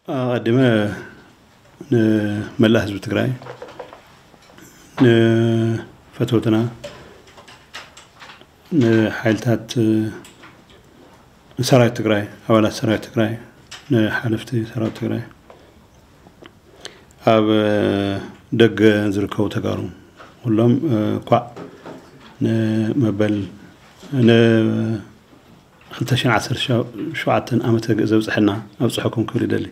ኣቐዲመ ንመላእ ህዝቢ ትግራይ፣ ንፈተውትና፣ ንሓይልታት፣ ንሰራዊት ትግራይ፣ ኣባላት ሰራዊት ትግራይ፣ ንሓለፍቲ ሰራዊት ትግራይ፣ ኣብ ደገ ዝርከቡ ተጋሩ ኩሎም፣ እ፣ ኳዕ ንመበል ን ክልተ ሽሕን ዓሰርተ ሸውዓተን ዓመተ ግእ ዘብፅሐና ኣብፅሐኩም ክብል ይደሊ።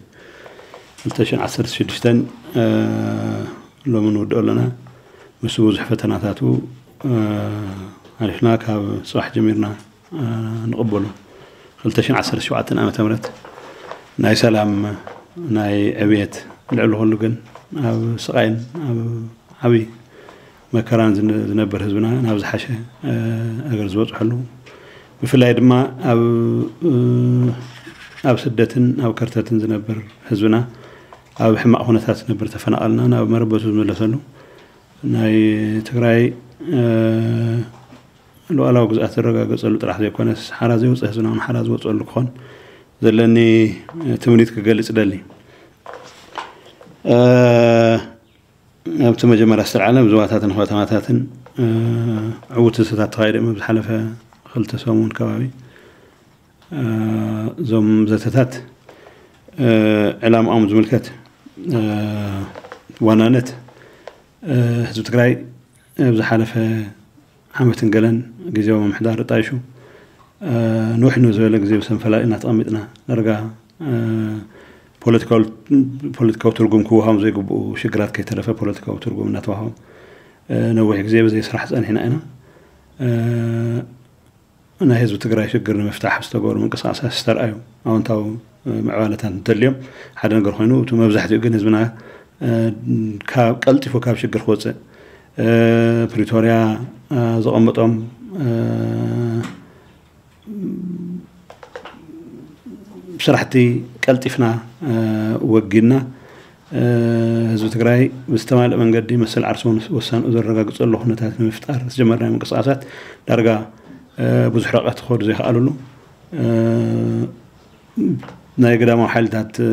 ክልተ ሽሕን ዓሰርተ ሽዱሽተን፣ እ፣ ሎሚ ንውድኦ ኣለና። ምስ ብዙሕ ፈተናታቱ፣ እ፣ ሓሊፍና ካብ ፅባሕ ጀሚርና፣ እ፣ ንቕበሎ። ክልተ ሽሕን ዓሰርተ ሸውዓተን ዓመተ ምህረት ናይ ሰላም፣ ናይ ዕብየት፣ ልዕሊ ኩሉ ግን ኣብ ስቓይን ኣብ ዓብዪ መከራን ዝነ-፣ ዝነብር ህዝብና ናብ ዝሓሸ፣ እ፣ ነገር ዝበፅሐሉ፣ ብፍላይ ድማ ኣብ፣ እ፣ ኣብ ስደትን ኣብ ከርተትን ዝነብር ህዝብና፣ ኣብ ሕማቕ ኩነታት ዝነብር ተፈናቐልና ናብ መረበቱ ዝመለሰሉ፣ ናይ ትግራይ፣ እ፣ ሉዓላዊ ግዝኣት ዝረጋገፀሉ ጥራሕ ዘይኮነስ፣ ሓራ ዘይወፀ ህዝብና እውን ሓራ ዝወፀሉ ክኾን ዘለኒ ትምኒት ክገልፅ ደሊ። እ፣ ኣብቲ መጀመርያ ዝተልዓለ ብዞባታትን ከተማታትን፣ እ፣ ዕዉት ዘተታት ተኻይደ እዮም። ኣብ ዝሓለፈ ክልተ ሰሙን ከባቢ፣ እ፣ እዞም ዘተታት፣ እ፣ ዕላምኦም ዝምልከት፣ እ፣ ዋናነት፣ እ፣ ህዝቢ ትግራይ ኣብ ዝሓለፈ ዓመትን ገለን ግዜያዊ ምምሕዳር ጣይሹ፣ እ፣ ንውሕ ንዝበለ ግዜ ብሰንፈላል ኢና ተቐሚጥና። ዳርጋ፣ እ፣ ፖለቲካዊ፣ ፖለቲካዊ ትርጉም ክወሃቦም ዘይግብኡ ሽግራት ከይተረፈ ፖለቲካዊ ትርጉም እናተዋህቦም፣ እ፣ ነዊሕ ግዜ ብዘይ ስራሕ ጸኒሕና ኢና። እ፣ ናይ ህዝቢ ትግራይ ሽግር ንምፍታሕ ዝተገበሩ ምንቅስቃሳት ዝተርኣዩ ኣወንታዊ፣ እ፣ ምዕባለታት እንተልዮም፣ ሓደ ነገር ኮይኑ፣ እቲ መብዛሕትኡ ግን ህዝብና፣ እ፣ ካብ፣ ቀልጢፉ ካብ ሽግር ክወፅእ፣ እ፣ ፕሪቶርያ፣ እ፣ ዘቐመጦም፣ እ፣ ስራሕቲ ቀልጢፍና፣ እ፣ ወጊንና፣ እ፣ ህዝቢ ትግራይ ብዝተማልእ መንገዲ መሰል ዓርሱ ወሳንኡ ዘረጋግፀሉ ኩነታት ንምፍጣር ዝጀመርናዮ ምንቅስቃሳት ዳርጋ፣ እ፣ ብዙሕ ርሕቀት ክኸዱ ዘይከኣልሉ፣ እ፣ ናይ ግዳማዊ ሓይልታት፣ እ፣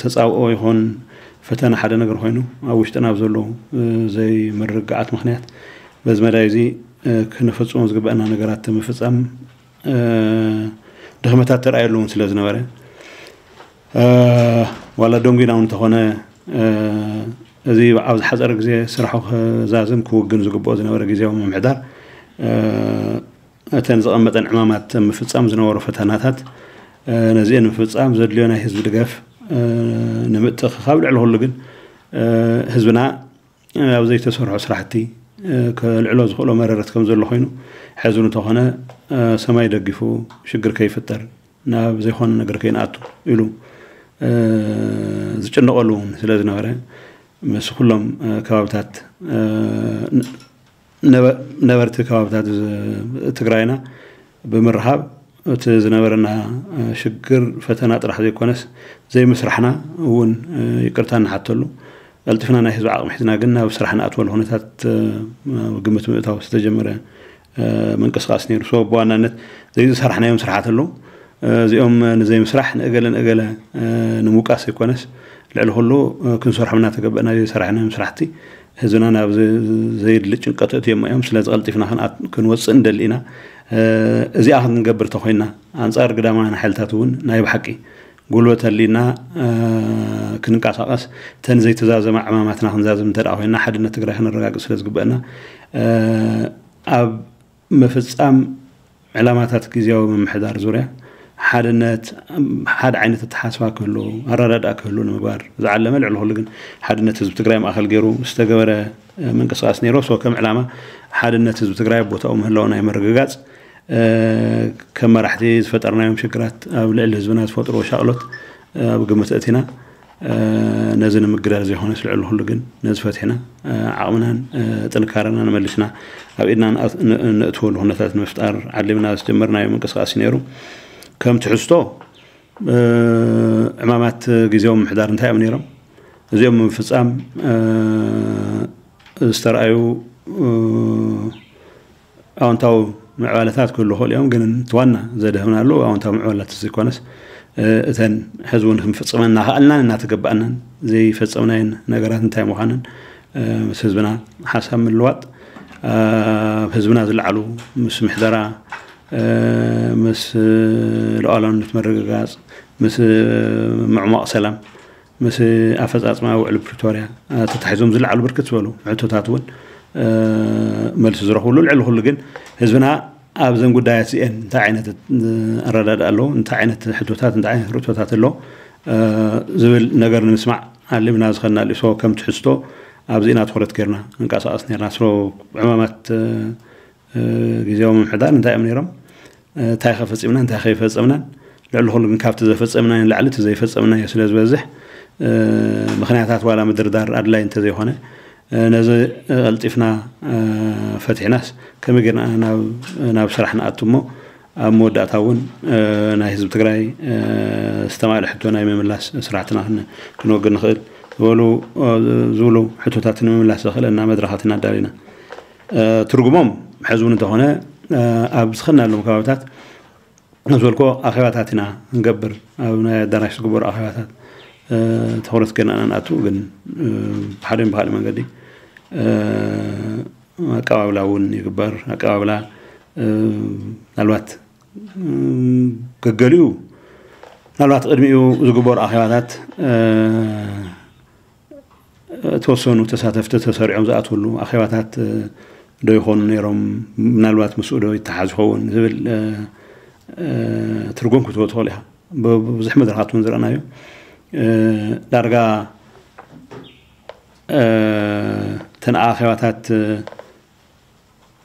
ተጻብኦ ይኹን ፈተነ ሓደ ነገር ኮይኑ፣ ኣብ ውሽጥና ኣብ ዘለዉ፣ እ፣ ዘይምርግጋዓት ምኽንያት በዚ መዳይ እዚ፣ እ፣ ክነፈጽሞ ዝግበአና ነገራት ምፍጻም፣ እ፣ ድኽመታት ተራእየሉ እውን ስለ ዝነበረ፣ እ፣ ዋላ ደንጒና እውን እንተኾነ፣ እ፣ እዚ ኣብ ዝሓጸረ ግዜ ስራሑ ክዛዝም ክውግን ዝግብኦ ዝነበረ ግዜያዊ ምምሕዳር፣ እ፣ እተን ዝቐመጠን ዕማማት ምፍጻም ዝነበሩ ፈተናታት፣ እ፣ ነዚአን ምፍጻም ዘድልዮ ናይ ህዝቢ ድጋፍ፣ እ፣ ንምትእኽኻብ፣ ልዕሊ ኩሉ ግን፣ እ፣ ህዝብና ኣብ ዘይተሰርሑ ስራሕቲ፣ እ፣ ከልዕሎ ዝኽእሎ መረረት ከም ዘሎ ኮይኑ፣ ሕዚ እውን እንተኾነ፣ እ፣ ሰማይ ደጊፉ ሽግር ከይፍጠር፣ ናብ ዘይኮነ ነገር ከይንኣቱ ኢሉ፣ እ፣ ዝጭነቐሉ እውን ስለ ዝነበረ፣ ምስ ኩሎም፣ እ፣ ከባብታት፣ እ፣ ነ-፣ ነበ-፣ ነበርቲ ከባብታት ዝ-፣ ትግራይና ብምርኻብ፣ እቲ ዝነበረና፣ እ፣ ሽግር ፈተና ጥራሕ ዘይኮነስ፣ ዘይምስራሕና እውን፣ እ፣ ይቅርታ ንሓተሉ። ቀልጢፍና ናይ ህዝቢ ዓቕሚ ሒዝና ግን ናብ ስራሕ ንኣትወሉ ኩነታት፣ እ፣ ግምት ምእታው ዝተጀመረ፣ እ፣ ምንቅስቃስ ነይሩ። ሶ ብዋናነት ዘይዝሰራሕናዮም ስራሓት ኣለዉ። እ፣ እዚኦም ንዘይምስራሕ ንእገለ ንእገለ፣ እ፣ ንምውቃስ ዘይኮነስ፣ ልዕሊ ኩሉ፣ እ፣ ክንሰርሖም እናተገበእና ዘይሰራሕናዮም ስራሕቲ ህዝብና ናብ ዘ-፣ ዘየድሊ ጭንቀት እትዮም እዮም። ስለዚ ቀልጢፍና ክንኣት-፣ ክንወፅእ ንደሊ ኢና። እ፣ እዚኣ ክንገብር ተኾይንና፣ ኣንጻር ግዳማውያን ሓይልታት እውን ናይ ብሓቂ ጉልበት ኣሊና፣ እ፣ ክንንቀሳቐስ፣ እተን ዘይተዛዘማ ዕማማትና ክንዛዝም እንተ ደኣ ኮይንና፣ ሓድነት ትግራይ ከነረጋግጽ ስለ ዝግበአና፣ እ፣ ኣብ ምፍጻም ዕላማታት ግዜያዊ ምምሕዳር ዙርያ ሓድነት፣ ሓደ ዓይነት ኣተሓሳስባ ክህሉ፣ ኣረዳድኣ ክህሉ ንምግባር ዝዓለመ፣ ልዕሊ ኩሉ ግን ሓድነት ህዝቢ ትግራይ ማእከል ገይሩ ዝተገበረ፣ እ፣ ምንቅስቃስ ነይሩ። ሶ ከም ዕላማ ሓድነት ህዝቢ ትግራይ ኣብ ቦታኡ ምህላው ናይ ምርግጋጽ፣ እ፣ ከም መራሕቲ ዝፈጠርናዮም ሽግራት ኣብ ልዕሊ ህዝብና ዝፈጥርዎ ሻቕሎት፣ እ፣ ኣብ ግምት ኣእቲና፣ እ፣ ነዚ ንምግዳል ዘይኮነስ ልዕሊ ኩሉ ግን ነዚ ፈቲሕና፣ እ፣ ዓቕምናን፣ እ፣ ጥንካረናን መሊስና ኣብ ኢድና ንኣት-፣ ን-፣ ነእትወሉ ኩነታት ንምፍጣር ዓሊምና ዝጀመርናዮ ምንቅስቃስ እዩ ነይሩ። ከም ትሕዝቶ፣ እ፣ ዕማማት ግዜያዊ ምምሕዳር እንታይ እዮም ነይሮም? እዚኦም ንምፍጻም፣ እ፣ ዝተረኣዩ፣ እ፣ ኣወንታዊ ምዕባለታት ክህሉ ይኽእሉ እዮም፣ ግን እቲ ዋና ዘድህብናሉ ኣወንታዊ ምዕባለታት ዘይኮነስ፣ እተን ሕዚ እውን ክንፍፅመን እናኸኣልናን እናተገባእናን ዘይፈፀምናየን ነገራት እንታይ ምዃነን ምስ ህዝብና ሓሳብ ምልዋጥ፣ ኣብ ህዝብና ዝለዓሉ ምስ ምሕደራ፣ ምስ ሉዓላውነት ምርግጋፅ፣ ምስ ምዕሟቕ ሰላም፣ ምስ ኣፈፃፅማ ውዕል ፕሪቶርያ ተታሒዞም ዝለዓሉ ብርክት ዝበሉ ሕቶታት እውን መልሲ ዝረኽብሉ፣ ልዕሊ ኩሉ ግን ህዝብና ኣብዘን ጉዳያት እዚአን እንታይ ዓይነት ኣረዳድኣ ኣለዎ፣ እንታይ ዓይነት ሕቶታት፣ እንታይ ዓይነት ርእቶታት ኣለዎ ዝብል ነገር ንምስማዕ ኣሊምና ዝኸድና ልእሶ ከም ትሕዝቶ ኣብዚእና ትኹረት ጌርና ንንቀሳቐስ ነርና። ስለ ዕማማት ግዜያዊ ምምሕዳር እንታይ እዮም ነይሮም፣ እንታይ ከፈፂምና እንታይ ከይፈፀምናን፣ ልዕሊ ኩሉ ግን ካብቲ ዘፈፀምናዮ ንላዕሊ እቲ ዘይፈፀምናዮ ስለ ዝበዝሕ ምክንያታት ዋላ ምድርዳር ኣድላይ እንተዘይኮነ ነዚ ቀልጢፍና ፈቲሕናስ ከመይ ጌርና ናብ ስራሕ ንኣቱ እሞ ኣብ መወዳእታ እውን ናይ ህዝቢ ትግራይ ዝተማልአ ሕቶ ናይ ምምላስ ስራሕትና ክንወግድ ንኽእል ዝበሉ ዝብሉ ሕቶታት ንምምላስ ዘኽእለና መድረኻት ኢና ኣዳሊና። ትርጉሞም ሕዚ እውን እንተኾነ ኣብ ዝኸናሎም ከባብታት ዝበልኮ ኣኼባታት ኢና ንገብር። ኣብ ናይ ኣዳራሽ ዝግበሩ ኣኼባታት ትኹረት ገና ንኣቱ ግን ብሓደ ብካልእ መንገዲ ኣቀባብላ እውን ይግበር። ኣቀባብላ ምናልባት ገገሊኡ ምናልባት ቅድሚኡ ዝግበሩ ኣኼባታት ተወሰኑ ተሳተፍቲ ተሰሪዖም ዝኣትውሉ ኣኼባታት ዶ ይኾኑ ነይሮም፣ ምናልባት ምስኡ ዶ ይተሓዝ ይኸውን ዝብል ትርጉም ክትህቦ ትኽእል ኢኻ። ብብዙሕ መድረኻት እውን ዝረኣናዮ ዳርጋ እተን ኣኼባታት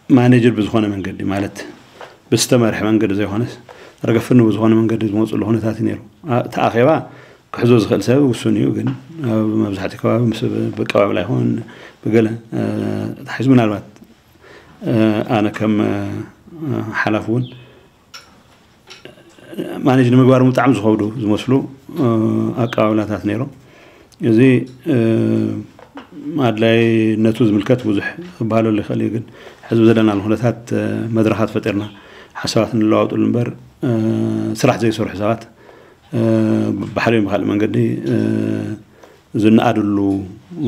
ማኔጅድ ብዝኾነ መንገዲ ማለት ብዝተመርሐ መንገዲ ዘይኮነስ ርገፍኒ ብዝኾነ መንገዲ ዝመፅሉ ኩነታት እዩ ነይሩ። እቲ ኣኼባ ክሕዞ ዝኽእል ሰብ ውሱን እዩ፣ ግን ኣብ መብዛሕትኡ ከባቢ ምስ ብቀባብላ ይኹን ብገለ ተታሒዙ ምናልባት ኣነ ከም ሓላፍ እውን ማኔጅ ንምግባር ብጣዕሚ ዝኸብዱ ዝመስሉ ኣቀባብላታት ነይሮም። እዚ ኣድላይነቱ ዝምልከት ብዙሕ ክበሃለሉ ይኽእል እዩ፣ ግን ሕዚ ዘለናሉ ኩነታት መድረኻት ፈጢርና ሓሳባት እንለዋወጥሉ እምበር ስራሕ ዘይሰርሑ ሰባት ብሓደ ብካልእ መንገዲ ዝነኣድሉ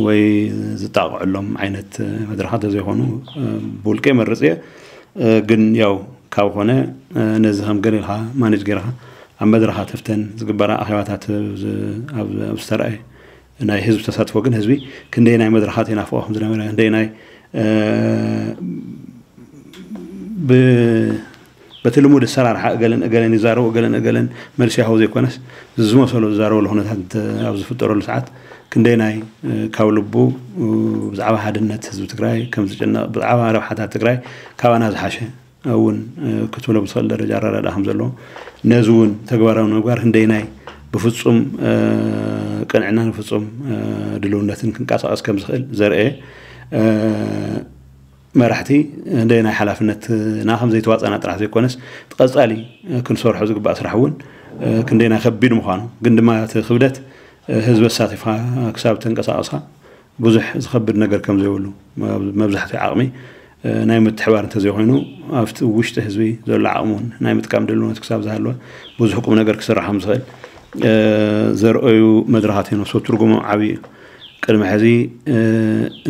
ወይ ዝጣቕዐሎም ዓይነት መድረኻት ዘይኮኑ ብውልቀ ይመርፅ እየ። ግን ያው ካብ ኮነ ነዚ ከም ገለ ኢልካ ማኔጅ ገይርካ ኣብ መድረኻት እፍተን ዝግበራ ኣኼባታት ኣብ ዝተረኣየ ናይ ህዝቢ ተሳትፎ ግን ህዝቢ ክንደይ ናይ መድረኻት የናፍቆ ከም ዝነበረ ክንደይ ናይ በቲ ልሙድ ኣሰራርሓ እገለን እገለን ይዛረቡ እገለን እገለን መልሲ ይሃቡ ዘይኮነስ ዝመሰሎ ዝዛረበሉ ኩነታት ኣብ ዝፍጠረሉ ሰዓት ክንደይ ናይ ካብ ልቡ ብዛዕባ ሓድነት ህዝቢ ትግራይ ከም ዝጭነቕ ብዛዕባ ረብሓታት ትግራይ ካባና ዝሓሸ እውን ክትብሎ ብትኽእል ደረጃ ኣረዳድኣ ከም ዘለዎ ነዚ እውን ተግባራዊ ንምግባር ክንደይ ናይ ብፍፁም ቅንዕናን ፍፁም ድልውነትን ክንቀሳቐስ ከም ዝኽእል ዘርአ መራሕቲ ክንደይ ናይ ሓላፍነትና ከም ዘይተዋፀና ጥራሕ ዘይኮነስ እቲ ቀፃሊ ክንሰርሖ ዝግባእ ስራሕ እውን ክንደይ ናይ ከቢድ ምዃኑ ግን ድማ እቲ ክብደት ህዝቢ ኣሳቲፍካ ክሳብ ተንቀሳቐስካ ብዙሕ ዝኸብድ ነገር ከም ዘይብሉ መብዛሕትኡ ዓቕሚ ናይ ምትሕባር እንተዘይኮይኑ ኣብቲ ውሽጢ ህዝቢ ዘሎ ዓቕሚ እውን ናይ ምጥቃም ድልውነት ክሳብ ዝሃለወ ብዙሕ ቁም ነገር ክስራሕ ከም ዝኽእል ዘርእዩ መድረኻት እዮም። ንሶ ትርጉሞም ዓብዪ እዩ። ቅድሚ ሕዚ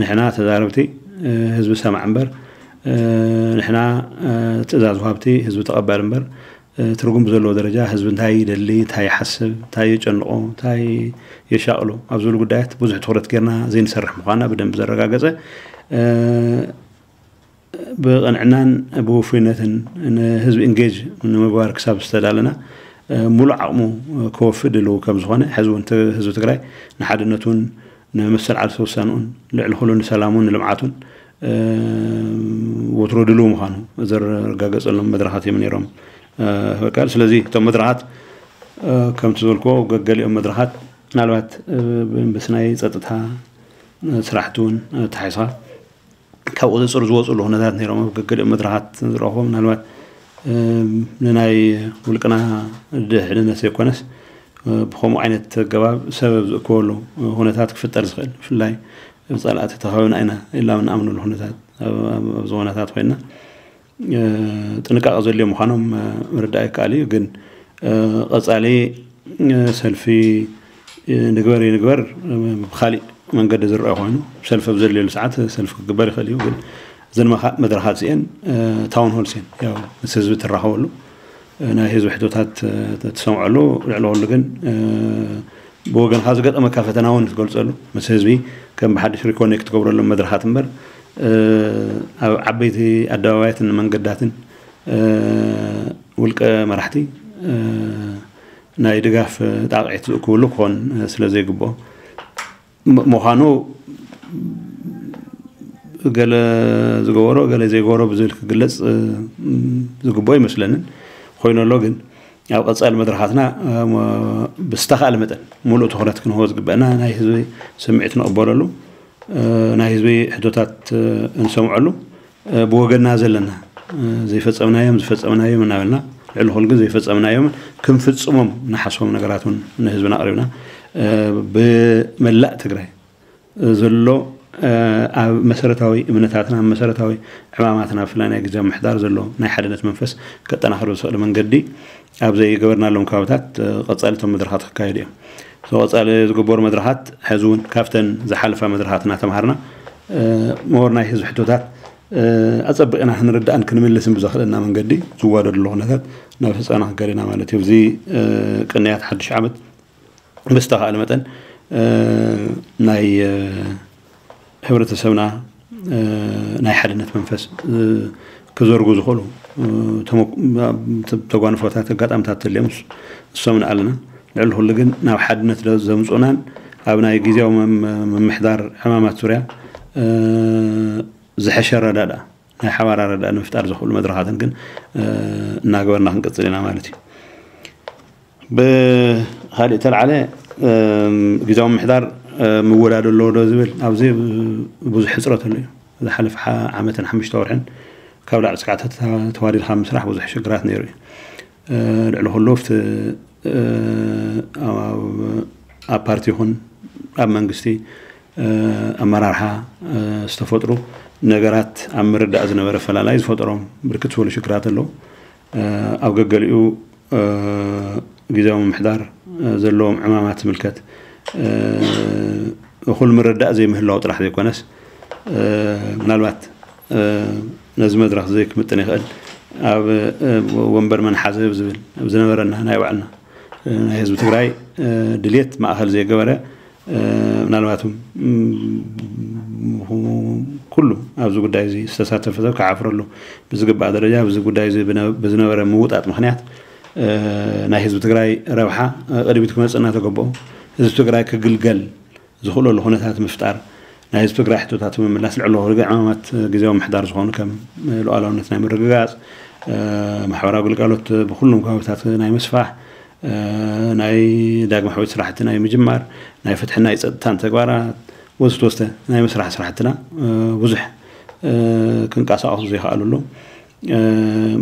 ንሕና ተዛረብቲ ህዝቢ ሰማዕ እምበር ንሕና ትእዛዝ ወሃብቲ ህዝቢ ተቐባል እምበር ትርጉም ብዘለዎ ደረጃ ህዝቢ እንታይ ይደሊ እንታይ ይሓስብ እንታይ የጨንቆ እንታይ የሻቕሎ ኣብ ዝብሉ ጉዳያት ብዙሕ ትኹረት ጌርና ዘይንሰርሕ ምዃንና ብደንብ ዘረጋገፀ ብቕንዕናን ብውፉይነትን ንህዝቢ ኢንጌጅ ንምግባር ክሳብ ዝተዳለና ሙሉእ ዓቕሙ ክወፍእ ድልው ከም ዝኾነ ሕዚ እውን ህዝቢ ትግራይ ንሓድነቱን ንመሰል ዓርሰ ውሳንኡን ልዕሊ ኩሉ ንሰላሙን ንልምዓቱን ወትሮ ድልው ምዃኑ ዘረጋገፀሎም መድረኻት እዮም ነይሮም። በቃ ስለዚ እቶም መድረኻት ከምቲ ዝበልክዎ ገገሊኦም መድረኻት ምናልባት ብስ ናይ ፀጥታ ስራሕቲ እውን ተሓይስኻ ካብ ቁፅፅር ዝወፅሉ ኩነታት ነይሮም ኣብ ገገሊኦም መድረኻት ዝረኽቦ ምናልባት ንናይ ውልቅና ድሕንነት ዘይኮነስ ብከምኡ ዓይነት ኣገባብ ሰበብ ዝእከበሉ ኩነታት ክፍጠር ዝኽእል ብፍላይ ብፀላእቲ ተኸበብና ኢና ኢልና ንኣምነሉ ኩነታት ኣብዚ ኩነታት ኮይና ጥንቃቐ ዘድልዮ ምዃኖም ምርዳእ ይከኣል እዩ። ግን ቀፃሊ ሰልፊ ንግበር ይንግበር ብካሊእ መንገዲ ዝረአ ኮይኑ፣ ሰልፊ ኣብ ዘድልየሉ ሰዓት ሰልፊ ክግበር ይኽእል እዩ። ግን እዘን መድረኻት እዚአን ታውን ሆልስ እየን፣ ያው ምስ ህዝቢ ትራኸበሉ፣ ናይ ህዝቢ ሕቶታት ትሰምዐሉ፣ ልዕሊ ኩሉ ግን ብወገንካ ዝገጠመካ ፈተና እውን ትገልፀሉ፣ ምስ ህዝቢ ከም ብሓድሽ ሪኮኔክት ትገብረሎም መድረኻት እምበር፣ ኣብ ዓበይቲ ኣደባባያትን መንገዳትን ውልቀ መራሕቲ ናይ ድጋፍ ጣቕዒት ዝእክብሉ ክኾን ስለ ዘይግብኦ፣ ምዃኑ ገለ ዝገበሮ ገለ ዘይገበሮ ብዝብል ክግለፅ ዝግብኦ ይመስለንን። ኮይኑ ኣሎ ግን ኣብ ቀፃሊ መድረኻትና ብዝተኻእለ መጠን ሙሉእ ትኹረት ክንህቦ ዝግበአና፣ ናይ ህዝቢ ስምዒት ንቕበለሉ፣ ናይ ህዝቢ ሕቶታት እንሰምዐሉ፣ ብወገንና ዘለና ዘይፈፀምናዮም ዝፈፀምናዮም እናበልና፣ ልዕሊ ኩሉ ግን ዘይፈፀምናዮም ክንፍፅሞም ንሓስቦም ነገራት እውን ንህዝብና ኣቕሪብና፣ ብመላእ ትግራይ ዘሎ ኣብ መሰረታዊ እምነታትና፣ ኣብ መሰረታዊ ዕማማትና፣ ብፍላይ ናይ ግዜ ምሕዳር ዘሎ ናይ ሓድነት መንፈስ ከጠናኽር ብዝኽእል መንገዲ ኣብ ዘይገበርናሎም ከባብታት ቀፃሊ እቶም መድረኻት ክካየዱ እዮም። ቀፃሊ ዝግበሩ መድረኻት ሕዚ እውን ካብተን ዝሓለፋ መድረኻት እናተምሃርና፣ ሞር ናይ ህዝቢ ሕቶታት ኣፀቢቕና ክንርዳእን ክንምልስን ብዘኽእለና መንገዲ ዝዋደድሉ ኩነታት ናብ ህፃና ክንከድ ኢና ማለት እዩ። እዚ ቅንያት ሓድሽ ዓመት ብዝተኻእለ መጠን ናይ ሕብረተሰብና ናይ ሓድነት መንፈስ ክዘርጉ ዝኽእሉ ተጓንፎታት፣ ኣጋጣምታት ተልዮም እሶም ንኣልና። ልዕሊ ኩሉ ግን ናብ ሓድነት ዘምፁናን ኣብ ናይ ግዜያዊ ምምሕዳር ዕማማት ዙርያ ዝሐሸ ኣረዳድኣ፣ ናይ ሓባር ኣረዳድኣ ንምፍጣር ዝኽእሉ መድረኻትን ግን እናገበርና ክንቅፅል ኢና ማለት እዩ። ብካሊእ ተልዓለ ግዜያዊ ምምሕዳር ምውዳድ ኣለዎ ዶ ዝብል፣ ኣብዚ ብዙሕ ሕፅረት ኣሎ እዩ። ዝሓለፈ ዓመትን ሓሙሽተ ወርሕን ካብ ላዕሊ ስካዕታት ተዋዲድካ ምስራሕ ብዙሕ ሽግራት ነይሩ እዩ። ልዕሊ ኩሉ ኣብቲ ኣብ ፓርቲ ይኹን ኣብ መንግስቲ ኣመራርሓ ዝተፈጥሩ ነገራት ኣብ ምርዳእ ዝነበረ ፈላላይ ዝፈጠሮም ብርክት ዝበሉ ሽግራት ኣለዉ። ኣብ ገገሊኡ ግዜያዊ ምምሕዳር ዘለዎም ዕማማት ዝምልከት እኹል ምርዳእ ዘይምህላው ጥራሕ ዘይኮነስ፣ ምናልባት ነዚ መድረኽ እዚ ክምጥን ይኽእል፣ ኣብ ወንበር መን ሓዘ ዝብል ዝነበረና ናይ ባዕልና ናይ ህዝቢ ትግራይ ድሌት ማእኸል ዘይገበረ፣ ምናልባትም ኩሉ ኣብዚ ጉዳይ እዚ ዝተሳተፈ ሰብ ክዓፍረሉ ብዝግባእ ደረጃ፣ ኣብዚ ጉዳይ እዚ ብዝነበረ ምውጣጥ ምኽንያት ናይ ህዝቢ ትግራይ ረብሓ ቅድሚት ክመፅእ እናተገበኦ፣ ህዝቢ ትግራይ ክግልገል ዝኽእለሉ ኩነታት ምፍጣር፣ ናይ ህዝቢ ትግራይ ሕቶታት ምምላስ፣ ልዕሊ ኩሉ ዕማማት ግዜያዊ ምምሕዳር ዝኾኑ ከም ሉዓላውነት ናይ ምርግጋፅ፣ ማሕበራዊ ግልጋሎት ብኩሉም ከባብታት ናይ ምስፋሕ፣ ናይ ዳግመ ሕውየት ስራሕቲ ናይ ምጅማር፣ ናይ ፍትሕን ናይ ፀጥታን ተግባራት ወዘተ ወዘተ ናይ ምስራሕ ስራሕትና ብዙሕ ክንቀሳቐሱ ዘይከኣሉ ኣለዉ።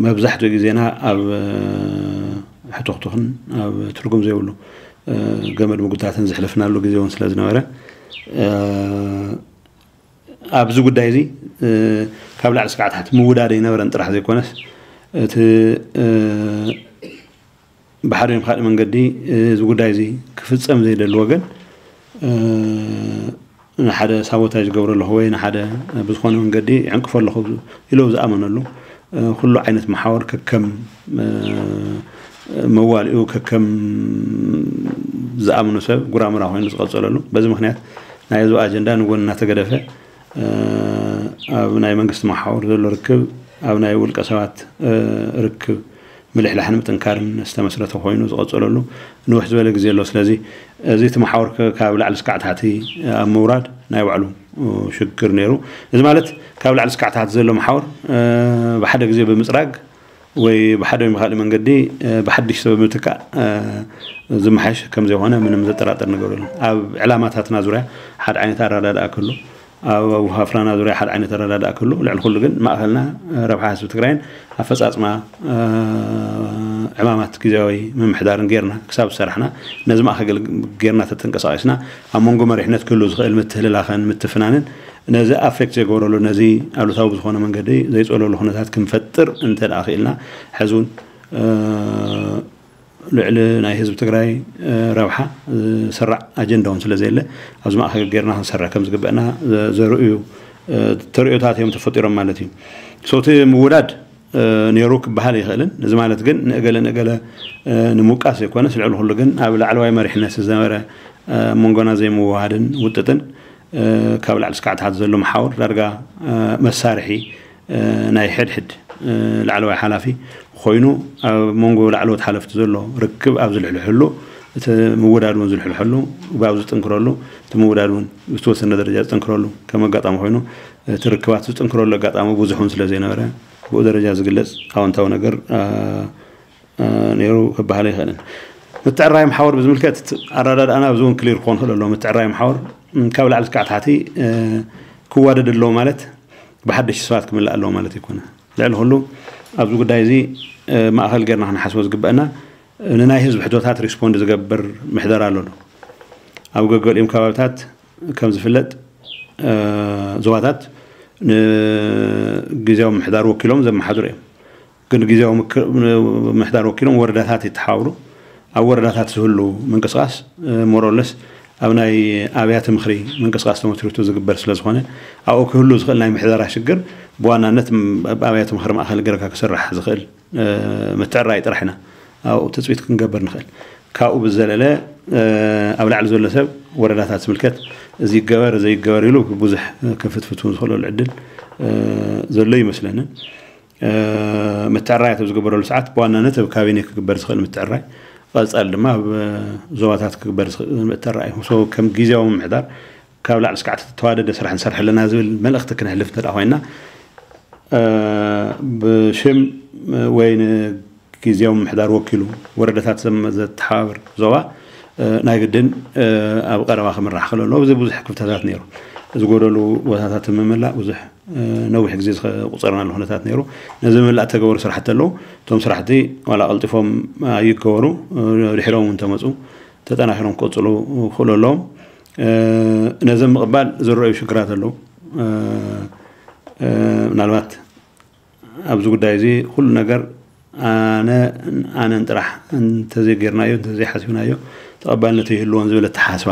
መብዛሕትኡ ግዜና ኣብ ሕቱኽቱኽን ኣብ ትርጉም ዘይብሉ ገመድ ምጉታትን ዘሕለፍናሉ ግዜ እውን ስለ ዝነበረ፣ ኣብዚ ጉዳይ እዚ ካብ ላዕሊ ስካዕ ታሕቲ ምውዳድ ኣይነበረን ጥራሕ ዘይኮነስ፣ እቲ ብሓደ ወይ ካልእ መንገዲ እዚ ጉዳይ እዚ ክፍጸም ዘይደሊ ወገን ንሓደ ሳቦታጅ ገብረ ኣለኹ ወይ ንሓደ ብዝኾነ መንገዲ ይዕንቅፎ ኣለኹ ኢሉ ዝኣመነሉ ኩሉ ዓይነት መሓወር ከከም መዋልኡ ከከም ዝኣምኖ ሰብ ጉራምራ ኮይኑ ዝቐጸለሉ፣ በዚ ምኽንያት ናይ ህዝቢ ኣጀንዳ ንጎኒ እናተገደፈ ኣብ ናይ መንግስቲ መሓውር ዘሎ ርክብ ኣብ ናይ ውልቀ ሰባት ርክብ ምልሕላሕን ምጥንካርን ዝተመስረተ ኮይኑ ዝቐጸለሉ ንውሕ ዝበለ ግዜ ኣሎ። ስለዚ እዚ እቲ መሓውር ካብ ላዕሊ ስካዕ ታሕቲ ኣብ ምውራድ ናይ ባዕሉ ሽግር ነይሩ። እዚ ማለት ካብ ላዕሊ ስካዕ ታሕቲ ዘሎ መሓውር ብሓደ ግዜ ብምፅራግ ወይ ብሓደ ወይ ብካሊእ መንገዲ ብሓድሽ ሰብ ምትካእ ዝመሓሽ ከም ዘይኮነ ምንም ዘጠራጥር ነገር የለን። ኣብ ዕላማታትና ዙርያ ሓደ ዓይነት ኣረዳድኣ ክህሉ፣ ኣብ ኣውሃፍራና ዙርያ ሓደ ዓይነት ኣረዳድኣ ክህሉ፣ ልዕሊ ኩሉ ግን ማእኸልና ረብሓ ህዝቢ ትግራይን ኣፈፃፅማ ዕማማት ግዜያዊ ምምሕዳርን ጌርና ክሳብ ዝሰራሕና፣ ነዚ ማእኸል ጌርና ተተንቀሳቒስና ኣብ መንጎ መሪሕነት ክህሉ ዝኽእል ምትህልላኸን ምትፍናንን ነዚ ኣፌክት ዘይገብረሉ፣ ነዚ ኣሉታዊ ብዝኾነ መንገዲ ዘይፀለሉ ኩነታት ክንፈጥር እንተ ደኣ ክኢልና፣ ሕዚ እውን ልዕሊ ናይ ህዝቢ ትግራይ ረብሓ ዝሰራዕ ኣጀንዳ እውን ስለ ዘየለ፣ ኣብዚ ማእኸል ጌርና ክንሰርሕ ከም ዝግበአና ዘርእዩ ተርእዮታት እዮም ተፈጢሮም ማለት እዩ። ሶቲ ምውዳድ ነይሩ ክበሃል ይኽእልን፣ እዚ ማለት ግን ንእገለ ንእገለ ንምውቃስ ዘይኮነስ፣ ልዕሊ ኩሉ ግን ኣብ ላዕለዋይ መሪሕነት ዝነበረ መንጎና ዘይምውሃድን ውጥጥን፣ ካብ ላዕሊ እስካዕ ታሕቲ ዘሎ መሓውር ዳርጋ መሳርሒ ናይ ሕድሕድ ላዕለዋይ ሓላፊ ኮይኑ፣ ኣብ መንጎ ላዕለዎት ሓለፍቲ ዘሎ ርክብ ኣብ ዝልሕልሐሉ፣ እቲ ምውዳድ እውን ዝልሕልሐሉ፣ ብኣብ ዝጥንክረሉ፣ እቲ ምውዳድ እውን ብዝተወሰነ ደረጃ ዝጥንክረሉ ከም ኣጋጣሚ ኮይኑ፣ እቲ ርክባት ዝጥንክረሉ ኣጋጣሚ ብዙሕ እውን ስለ ዘይነበረ፣ ብኡ ደረጃ ዝግለጽ ኣወንታዊ ነገር ነይሩ ክበሃል ኣይኽእልን። ምትዕራይ መሓውር ብዝምልከት ኣረዳድኣና ኣብዚ እውን ክሊር ክኾን ክእል ኣለዎ። ምትዕራይ መሓውር ካብ ላዕሊ እስካዕ ታሕቲ ክዋደድ ኣለዎ ማለት ብሓደሽቲ ሰባት ክምላእ ኣለዎ ማለት ኣይኮነ። ልዕሊ ኩሉ ኣብዚ ጉዳይ እዚ ማእኸል ጌርና ክንሓስቦ ዝግበአና፣ ንናይ ህዝቢ ሕቶታት ሪስፖንድ ዝገብር ምሕደራ ኣሎ ዶ? ኣብ ገገሊኦም ከባብታት ከም ዝፍለጥ ዞባታት ንግዜያዊ ምሕዳር ወኪሎም ዘመሓድሩ እዮም። ግን ግዜያዊ ምክ- ምሕዳር ወኪሎም ወረዳታት ይተሓባብሩ። ኣብ ወረዳታት ዝህሉ ምንቅስቃስ ሞሮለስ ኣብ ናይ ኣብያተ ምኽሪ ምንቅስቃስ ተመስሪቱ ዝግበር ስለ ዝኾነ፣ ኣብኡ ክህሉ ዝኽእል ናይ ምሕደራ ሽግር ብዋናነት ኣብ ኣብያተ ምኽሪ ማእኸል ገርካ ክስራሕ ዝኽእል ምትዕራይ ጥራሕ ኢና ኣብኡ ትፅቢት ክንገብር ንኽእል። ካብኡ ብዘለለ ኣብ ላዕሊ ዘሎ ሰብ ወረዳታት ዝምልከት እዚ ይገበር እዚ ይገበር ኢሉ ብዙሕ ክፍትፍት ዝኽእለሉ ዕድል ዘሎ ይመስለንን። ምትዕራያት ኣብ ዝግበረሉ ሰዓት ብዋናነት ኣብ ካቢኔ ክግበር ዝኽእል ምትዕራይ፣ ቀፃሊ ድማ ኣብ ዞባታት ክግበር ዝኽእል ምትዕራይ እዩ። ከም ግዜያዊ ምምሕዳር ካብ ላዕሊ እስካዕ ተዋደደ ስራሕ ንሰርሕ ኣለና ዝብል መልእኽቲ ክነሕልፍ እንተ ኮይና፣ ብሽም ወይ ንግዜያዊ ምምሕዳር ወኪሉ ወረዳታት ዘተሓባብር ዞባ ናይ ግድን ኣብ ቀረባ ክምራሕ ክእል ኣለዎ። እዚ ብዙሕ ክፍተታት ነይሩ። ዝጎደሉ ቦታታት ምምላእ ብዙሕ ነዊሕ ግዜ ዝቁፀርናሉ ኩነታት ነይሩ። ነዚ ምምላእ ተገበሩ ስራሕቲ ኣለዉ። እቶም ስራሕቲ ዋላ ቀልጢፎም ኣይገበሩ፣ ድሕሮም እውን ተመፁ ተጠናኺሮም ክቅፅሉ ክእሉ ኣለዎም። ነዚ ምቕባል ዝረኣዩ ሽግራት ኣለዉ። ምናልባት ኣብዚ ጉዳይ እዚ ኩሉ ነገር ኣነ ኣነን ጥራሕ እንተዘይጌርናዮ እንተዘይሓሲብናዮ ተቐባልነት ይህልዎን ዝብል ኣተሓሳስባ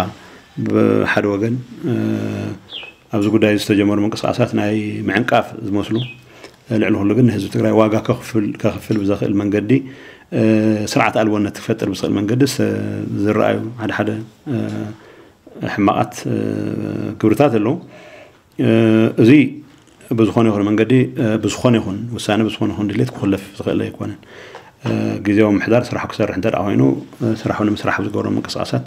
ብሓደ ወገን፣ ኣብዚ ጉዳይ ዝተጀመሩ ምንቅስቃሳት ናይ ምዕንቃፍ ዝመስሉ፣ ልዕሊ ኩሉ ግን ንህዝቢ ትግራይ ዋጋ ከኽፍል ብዘኽእል መንገዲ፣ ስርዓት ኣልቦነት ክፈጥር ብዝኽእል መንገዲ ዝረኣዩ ሓደ ሓደ ሕማቓት ግብርታት ኣለዉ። እዚ ብዝኾነ ይኹን መንገዲ ብዝኾነ ይኹን ውሳነ ብዝኾነ ይኹን ድሌት ክኹለፍ ዝኽእል ኣይኮነን። ግዜያዊ ምሕዳር ስራሑ ክሰርሕ እንተ ኮይኑ ስራሑ ንምስራሕ ዝገብሮ ምንቅስቃሳት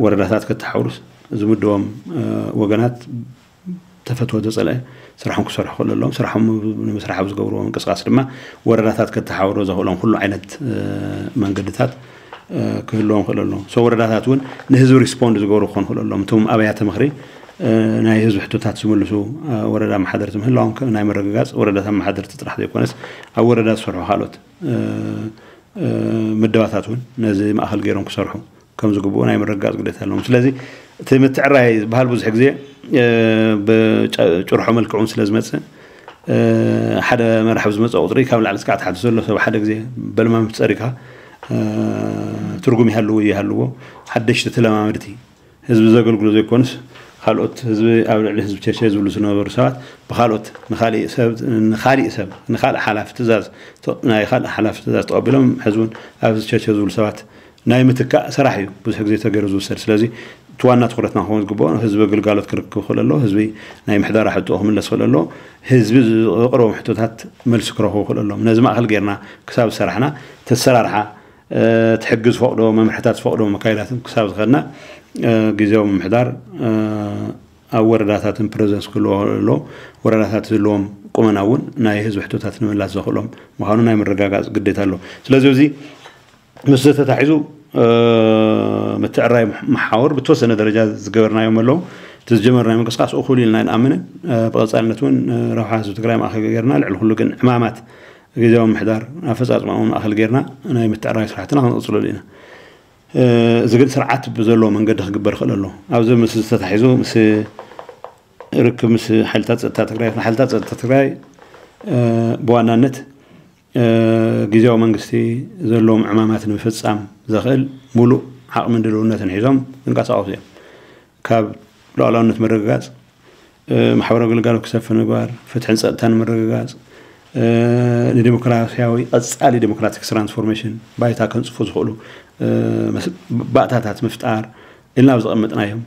ወረዳታት ከተሓውሩስ ዝምድቦም ወገናት ተፈትወ ተፀልአ ስራሖም ክሰርሑ ክእሉ ኣለዎም። ስራሖም ንምስራሕ ኣብ ዝገብርዎ ምንቅስቃስ ድማ ወረዳታት ከተሓውሮ ዘኽእሎም ኩሉ ዓይነት መንገድታት ክህልዎም ክእል ኣለዎም። ሶ ወረዳታት እውን ንህዝቢ ሪስፖንድ ዝገብሩ ክኾኑ ክእል ኣለዎም። እቶም ኣብያተ ምኽሪ ናይ ህዝቢ ሕቶታት ዝምልሱ ወረዳ መሓደርቲ ምህላዎም ናይ ምርግጋፅ ወረዳታት መሓደርቲ ጥራሕ ዘይኮነስ ኣብ ወረዳ ዝሰርሑ ካልኦት ምደባታት እውን ነዚ ማእኸል ገይሮም ክሰርሑ ከም ዝግብኡ ናይ ምርግጋፅ ግዴታ ኣለዎም። ስለዚ እቲ ምትዕራይ ዝበሃል ብዙሕ ግዜ ብጭርሖ መልክዕ እውን ስለ ዝመፅእ ሓደ መራሒ ብዝመፀ ቁፅሪ ካብ ላዕሊ እስካዕ ታሕቲ ዘሎ ሰብ ሓደ ግዜ በልማም ፀሪካ ትርጉም ይሃልዎ ይሃልዎ ሓደሽቲ ተለማመድቲ ህዝቢ ዘገልግሉ ዘይኮኑስ ካልኦት ህዝቢ ኣብ ልዕሊ ህዝቢ ቸቸ ዝብሉ ዝነበሩ ሰባት ብካልኦት ንካሊእ ሰብ ንካሊእ ሰብ ንካልእ ሓላፊ ትእዛዝ ናይ ካልእ ሓላፊ ትእዛዝ ተቐቢሎም ሕዚ እውን ኣብ ህዝቢ ቸቸ ዝብሉ ሰባት ናይ ምትካእ ስራሕ እዩ ብዙሕ ግዜ ተገይሩ ዝውሰድ። ስለዚ እቲ ዋና ትኩረትና ክኸውን ዝግብኦ ህዝቢ ግልጋሎት ክርክብ ክእል ኣሎ፣ ህዝቢ ናይ ምሕደራ ሕቶ ክምለስ ክእል ኣሎ፣ ህዝቢ ዘቕርቦም ሕቶታት መልሲ ክረኽቡ ክእል ኣለዎም። ነዚ ማእኸል ጌርና ክሳብ ዝሰራሕና ተሰራርሓ ትሕጊ ዝፈቕዶ መምርሕታት ዝፈቕዶ መካይዳትን ክሳብ ዝኸድና ግዜያዊ ምምሕዳር ኣብ ወረዳታትን ፕረዘንስ ክህልዎ ኣሎ። ወረዳታት ዝህልዎም ቁመና እውን ናይ ህዝቢ ሕቶታት ንምላስ ዘኽእሎም ምዃኑ ናይ ምርጋጋፅ ግዴታ ኣሎ። ስለዚ እዚ ምስ ተታሒዙ ምትዕራይ መሓውር ብተወሰነ ደረጃ ዝገበርናዮም ኣለዉ። እቲ ዝጀመርናዮ ምንቅስቃስ እኹል ኢልና ኣይንኣምንን። ብቐፃልነት እውን ረብሓ ህዝቢ ትግራይ ማእኸል ገይርና ልዕሊ ኩሉ ግን ዕማማት ግዜያዊ ምምሕዳር ኣፈፃፅማኡ ማእኸል ጌርና ናይ ምትዕራይ ስራሕትና ክንቕፅለሉ ኢና። እዚ ግን ስርዓት ብዘለዎ መንገዲ ክግበር ይኽእል ኣሎ። ኣብዚ ምስ ዝተታሒዙ ምስ ርክብ ምስ ሓይልታት ፀጥታ ትግራይ ሓይልታት ፀጥታ ትግራይ ብዋናነት ግዜያዊ መንግስቲ ዘለዎም ዕማማት ንምፍፃም ዘኽእል ሙሉእ ዓቕምን ድልውነትን ሒዞም ዝንቀሳቐሱ እዮም። ካብ ሉዓላውነት ምርግጋፅ፣ ማሕበራዊ ግልጋሎት ክሰፍን ምግባር፣ ፍትሕን ፀጥታን ምርግጋፅ፣ ንዲሞክራሲያዊ ቀፃሊ ዲሞክራቲክ ትራንስፎርሜሽን ባይታ ከንፅፉ ዝኽእሉ ባእታታት ምፍጣር ኢልና ኣብ ዘቐመጥናዮም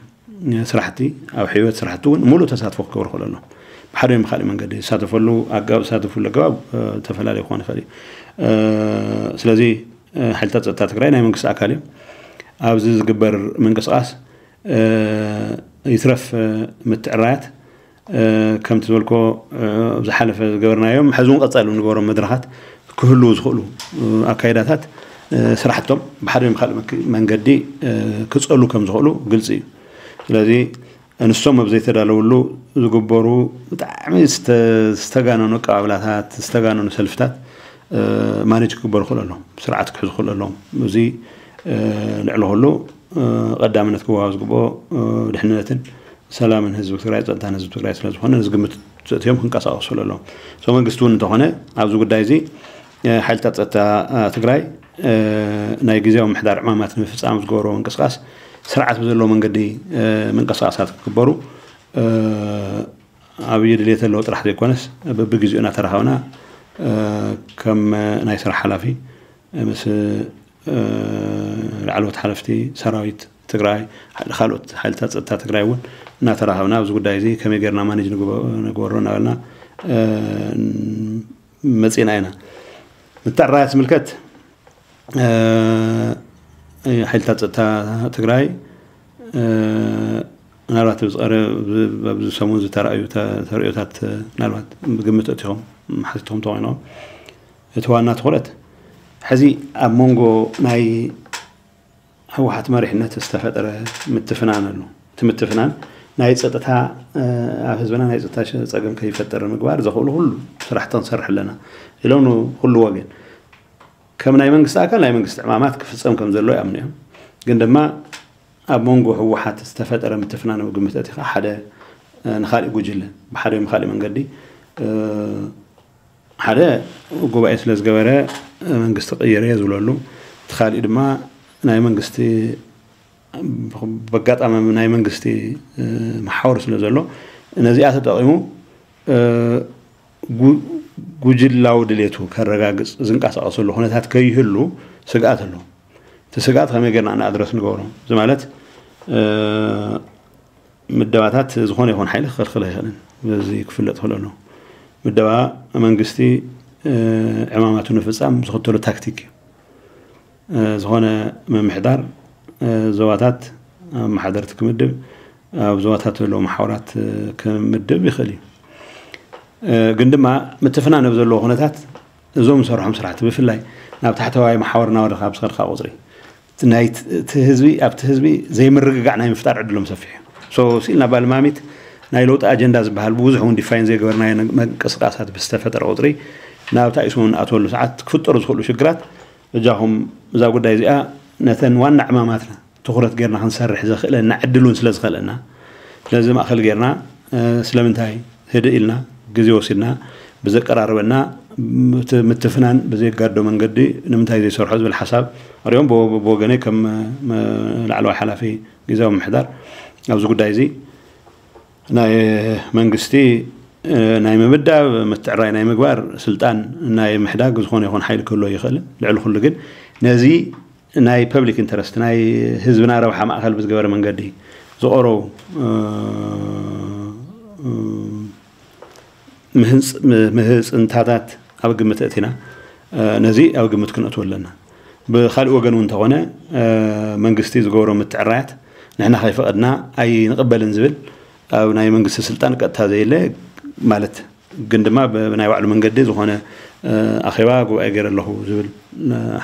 ስራሕቲ፣ ኣብ ሕይወት ስራሕቲ እውን ሙሉእ ተሳትፎ ክገብሩ ይኽእሉ ኣለዎም። ብሓደ ወይ ብኻሊእ መንገዲ ዝሳተፈሉ ኣገባብ፣ ዝሳተፍሉ ኣገባብ ተፈላለዩ ክኾን ይኽእል እዩ። ስለዚ ሓይልታት ፀጥታ ትግራይ ናይ መንግስቲ ኣካል እዮም። ኣብዚ ዝግበር ምንቅስቃስ ይትረፍ ምትዕራያት ከምቲ ዝበልኮ ዝሓለፈ ዝገበርናዮም፣ ሕዚ እውን ቀፃሊ ንገበሮም መድረኻት ክህልዉ ዝኽእሉ ኣካይዳታት ስራሕቶም ብሓደ ወይ ካልእ መንገዲ ክፀሉ ከም ዝኽእሉ ግልፂ እዩ። ስለዚ ንሶም ኣብ ዘይተዳለውሉ ዝግበሩ ብጣዕሚ ዝተጋነኑ ኣቀባብላታት፣ ዝተጋነኑ ሰልፍታት ማኔጅ ክግበሩ ክኽእሉ ኣለዎም፣ ስርዓት ክሕዙ ክኽእሉ ኣለዎም። እዚ ልዕሊ ኩሉ ቀዳምነት ክወሃብ ዝግብኦ ድሕንነትን ሰላምን ህዝቢ ትግራይ፣ ፀጥታን ህዝቢ ትግራይ ስለዝኾነ ነዚ ግምት ዘእትዮም ክንቀሳቀሱ ኣለዎም። ሶ መንግስቲ እውን እንተኾነ ኣብዚ ጉዳይ እዚ ሓይልታት ፀጥታ ትግራይ ናይ ግዜያዊ ምሕዳር ዕማማት ንምፍፃም ዝገበርዎ ምንቅስቃስ ስርዓት ብዘለዎ መንገዲ ምንቅስቃሳት ክግበሩ ዓብዪ ድሌት ዘለዎ ጥራሕ ዘይኮነስ በብግዜኡ እናተራኸብና ከም ናይ ስራሕ ሓላፊ ምስ ላዕለዎት ሓለፍቲ ሰራዊት ትግራይ፣ ካልኦት ሓይልታት ፀጥታ ትግራይ እውን እናተራኸብና ኣብዚ ጉዳይ እዚ ከመይ ጌርና ማኔጅ ንግበሮ እናበልና መፂና ኢና። ምትዕራያት ዝምልከት ሓይልታት ፀጥታ ትግራይ ምናልባት ኣብዚ ሰሙን ዝተረኣዩ ተርእዮታት ምናልባት ብግምት እቲኹም ሓቲትኩም ተኮይኖም እቲ ዋና ትኩረት ሕዚ ኣብ መንጎ ናይ ህወሓት መሪሕነት ዝተፈጠረ ምትፍናን ኣሎ። እቲ ምትፍናን ናይ ፀጥታ ኣብ ህዝብና ናይ ፀጥታ ፀገም ከይፈጠር ምግባር ዘኽእሉ ኩሉ ስራሕቲ ክንሰርሕ ኣለና ኢሎም ንኩሉ ወገን ከም ናይ መንግስቲ ኣካል ናይ መንግስቲ ዕማማት ክፍፀም ከም ዘሎ ይኣምኑ እዮም። ግን ድማ ኣብ መንጎ ህወሓት ዝተፈጠረ ምትፍናን ኣብ ግምት ኣእቲኻ ሓደ ንካሊእ ጉጅለ ብሓደ ወይ ካልእ መንገዲ ሓደ ጉባኤ ስለ ዝገበረ መንግስቲ ቀይረ ዝብለሉ፣ እቲ ካሊእ ድማ ናይ መንግስቲ በጋጣሚ ናይ መንግስቲ መሓወር ስለ ዘሎ ነዚኣ ተጠቒሙ ጉጅላዊ ድሌቱ ከረጋግፅ ዝንቀሳቐሰሉ ኩነታት ከይህሉ ስግኣት ኣሎ። እቲ ስግኣት ከመይ ጌርና ንኣድረስ ንገብሮ እዚ ማለት ምደባታት ዝኾነ ይኹን ሓይሊ ክኸልክል ኣይኽእልን። በዚ ክፍለጥ ክእል ኣሎ። ምደባ መንግስቲ ዕማማቱ ንፍፃም ዝኽተሎ ታክቲክ እዩ። ዝኾነ ምምሕዳር ዞባታት ኣመሓደርቲ ክምድብ፣ ኣብ ዞባታት ዘለዉ መሓውራት ክምድብ ይኽእል እዩ። ግን ድማ ምትፍናን ኣብ ዘለዎ ኩነታት እዞም ዝሰርሖም ስራሕቲ ብፍላይ ናብ ታሕተዋይ መሓውር እናወረድካ ኣብ ዝኸድካ ቁፅሪ ናይቲ ህዝቢ ኣብቲ ህዝቢ ዘይምርግጋዕ ናይ ምፍጣር ዕድሎም ሰፊሕ እዩ። ሶ ስኢልና ባልማሚት ናይ ለውጢ ኣጀንዳ ዝበሃል ብብዙሕ እውን ዲፋይን ዘይገበርናዮ ምንቅስቃሳት ብዝተፈጠረ ቁፅሪ ናብታ ኢስሙ ንኣትወሉ ሰዓት ክፍጠሩ ዝኽእሉ ሽግራት በጃኹም እዛ ጉዳይ እዚኣ ነተን ዋና ዕማማትና ትኹረት ጌርና ክንሰርሕ ዘኽእለና ዕድል እውን ስለ ዝኸልአና ስለዚ ማእኸል ጌርና ስለምንታይ ህድእ ኢልና ግዜ ወሲድና ብዘቀራርበና ምትፍናን ብዘየጋዶ መንገዲ ንምንታይ ዘይሰርሖ ዝብል ሓሳብ ኣሪኦም ብወገነይ ከም ላዕለዋይ ሓላፊ ግዜያዊ ምምሕዳር ኣብዚ ጉዳይ እዚ ናይ መንግስቲ ናይ ምምዳብ ምትዕራይ ናይ ምግባር ስልጣን ናይ ምሕዳግ ዝኾነ ይኹን ሓይሊ ክህልዎ ይኽእልን ልዕሊ ኩሉ ግን ነዚ ናይ ፐብሊክ ኢንተረስት ናይ ህዝብና ረብሓ ማእኸል ብዝገበረ መንገዲ ዝቐረቡ ምህፅንታታት ኣብ ግምት እቲና ነዚ ኣብ ግምት ክነእትዎ ኣለና። ብካሊእ ወገን እውን እንተኾነ መንግስቲ ዝገብሮ ምትዕራያት ንሕና ከይፈቐድና ኣይንቕበልን ዝብል ኣብ ናይ መንግስቲ ስልጣን ቀጥታ ዘየለ ማለት ግን ድማ ብናይ ባዕሉ መንገዲ ዝኾነ ኣኼባ ጉባኤ ገይረ ኣለኹ ዝብል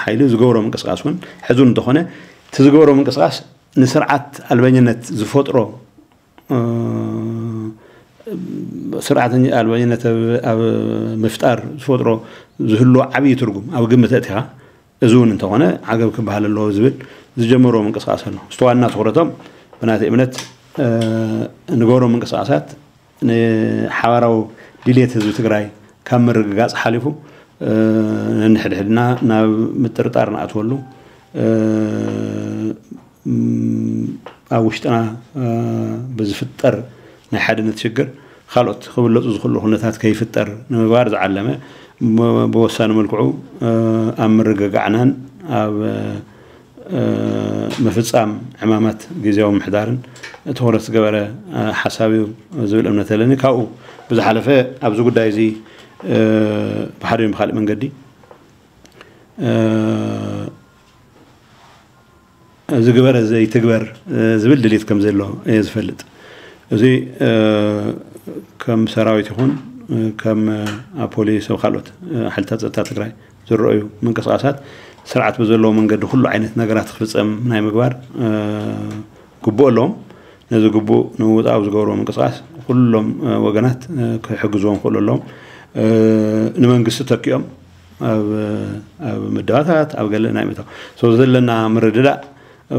ሓይሊ ዝገብሮ ምንቅስቃስ እውን ሕዚ እውን እንተኾነ እቲ ዝገብሮ ምንቅስቃስ ንስርዓት ኣልበኝነት ዝፈጥሮ ስርዓት ኣልበኝነት ኣብ ምፍጣር ዝፈጥሮ ዝህልዎ ዓብዪ ትርጉም ኣብ ግምት ኣእቲኻ እዚ እውን እንተኾነ ዓገብ ክበሃል ኣለዎ ዝብል ዝጀመርዎ ምንቅስቃስ ኣሎ። እቲ ዋና ትኹረቶም ብናተይ እምነት ንገብሮ ምንቅስቃሳት ንሓባራዊ ድልየት ህዝቢ ትግራይ ካብ ምርግጋፅ ሓሊፉ ነንሕድሕድና ናብ ምጥርጣር ንኣትወሉ፣ ኣብ ውሽጥና ብዝፍጠር ናይ ሓድነት ሽግር ካልኦት ክብለፁ ዝኽእሉ ኩነታት ከይፍጠር ንምግባር ዝዓለመ፣ ብወሳኒ መልክዑ ኣብ ምርግጋዕናን ኣብ ምፍፃም ዕማማት ግዜያዊ ምሕዳርን ትኹረት ዝገበረ ሓሳብ እዩ ዝብል እምነት ኣለኒ። ካብኡ ብዝሓለፈ ኣብዚ ጉዳይ እዚ ብሓደ ብካሊእ መንገዲ ዝግበር ዘይትግበር ዝብል ድሌት ከም ዘሎ እየ ዝፈልጥ። እዚ ከም ሰራዊት ይኹን ከም ኣብ ፖሊስ ኣብ ካልኦት ሓይልታት ጸጥታ ትግራይ ዝረኣዩ ምንቅስቃሳት ስርዓት ብዘለዎ መንገዲ ኩሉ ዓይነት ነገራት ክፍጸም ናይ ምግባር ግቡእ ኣለዎም። ነዚ ግቡእ ንምውፃእ ኣብ ዝገብርዎ ምንቅስቃስ ኩሎም ወገናት ክሕግዝዎም ክኽእሉ ኣለዎም። ንመንግስቲ ተኪኦም ኣብ ምድባታት ኣብ ገለ ናይ ምእታው ዘለና ምርድዳእ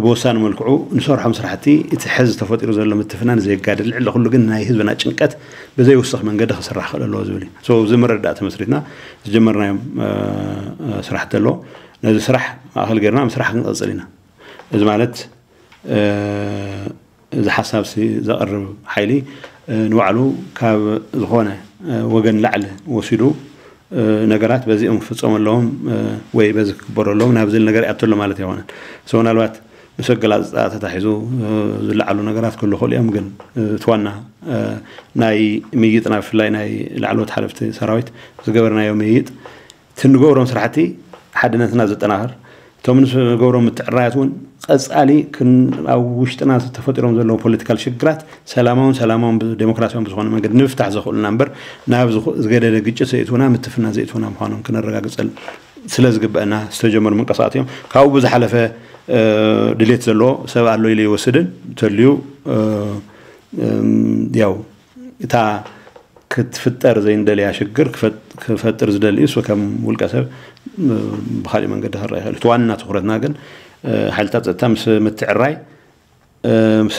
ብወሳኒ መልክዑ ንሰርሖም ስራሕቲ እቲ ሕዚ ተፈጢሩ ዘሎ ምትፍናን ዘየጋድል፣ ልዕሊ ኩሉ ግን ናይ ህዝብና ጭንቀት ብዘይውስኽ መንገዲ ክስራሕ ክኽእል ኣለዎ ዝብል እዩ። እዚ ምርድዳእ ተመስሪትና ዝጀመርናዮም ስራሕቲ ኣለዎ። ነዚ ስራሕ ማእኸል ጌርና ምስራሕ ክንቐፅል ኢና። እዚ ማለት እዚ ሓሳብ ዘቕርብ ሓይሊ ንባዕሉ ካብ ዝኾነ ወገን ላዕሊ ወሲዱ ነገራት በዚኦም ክፍፀሙ ኣለዎም ወይ በዚ ክግበሩ ኣለዎም ናብ ዝብል ነገር ይኣቱ ኣሎ ማለት ኣይኮነን። ምናልባት ምስ ኣገላልፃ ተታሒዙ ዝለዓሉ ነገራት ክህሉ ይኽእሉ እዮም። ግን እቲ ዋና ናይ ምይይጥና ብፍላይ ናይ ላዕለዎት ሓለፍቲ ሰራዊት ዝገበርናዮ ምይይጥ እቲ ንገብሮም ስራሕቲ ሓድነትና ዘጠናኽር፣ እቶም ንገብሮም ምትዕራያት እውን ቀፃሊ ኣብ ውሽጥና ተፈጢሮም ዘለዉ ፖለቲካል ሽግራት ሰላማውን ሰላማውን ዴሞክራሲያውን ብዝኾነ መንገዲ ንምፍታሕ ዘኽእሉና እምበር ናብ ዝገደደ ግጭት ዘእትውና ምትፍና ዘእትውና ምዃኖም ክነረጋግፀል ስለ ዝግበአና ዝተጀመሩ ምንቅስቃሳት እዮም። ካብኡ ብዝሓለፈ ድሌት ዘለዎ ሰብ ኣሎ ኢለ ይወስድን ተልዩ ያው እታ ክትፍጠር ዘይንደልያ ሽግር ክፈጥር ዝደሊ እሱ ከም ውልቀ ሰብ ብካሊእ መንገዲ ክረአ ይኽእል። እቲ ዋና ትኩረትና ግን ሓይልታት ፀጥታ ምስ ምትዕራይ ምስ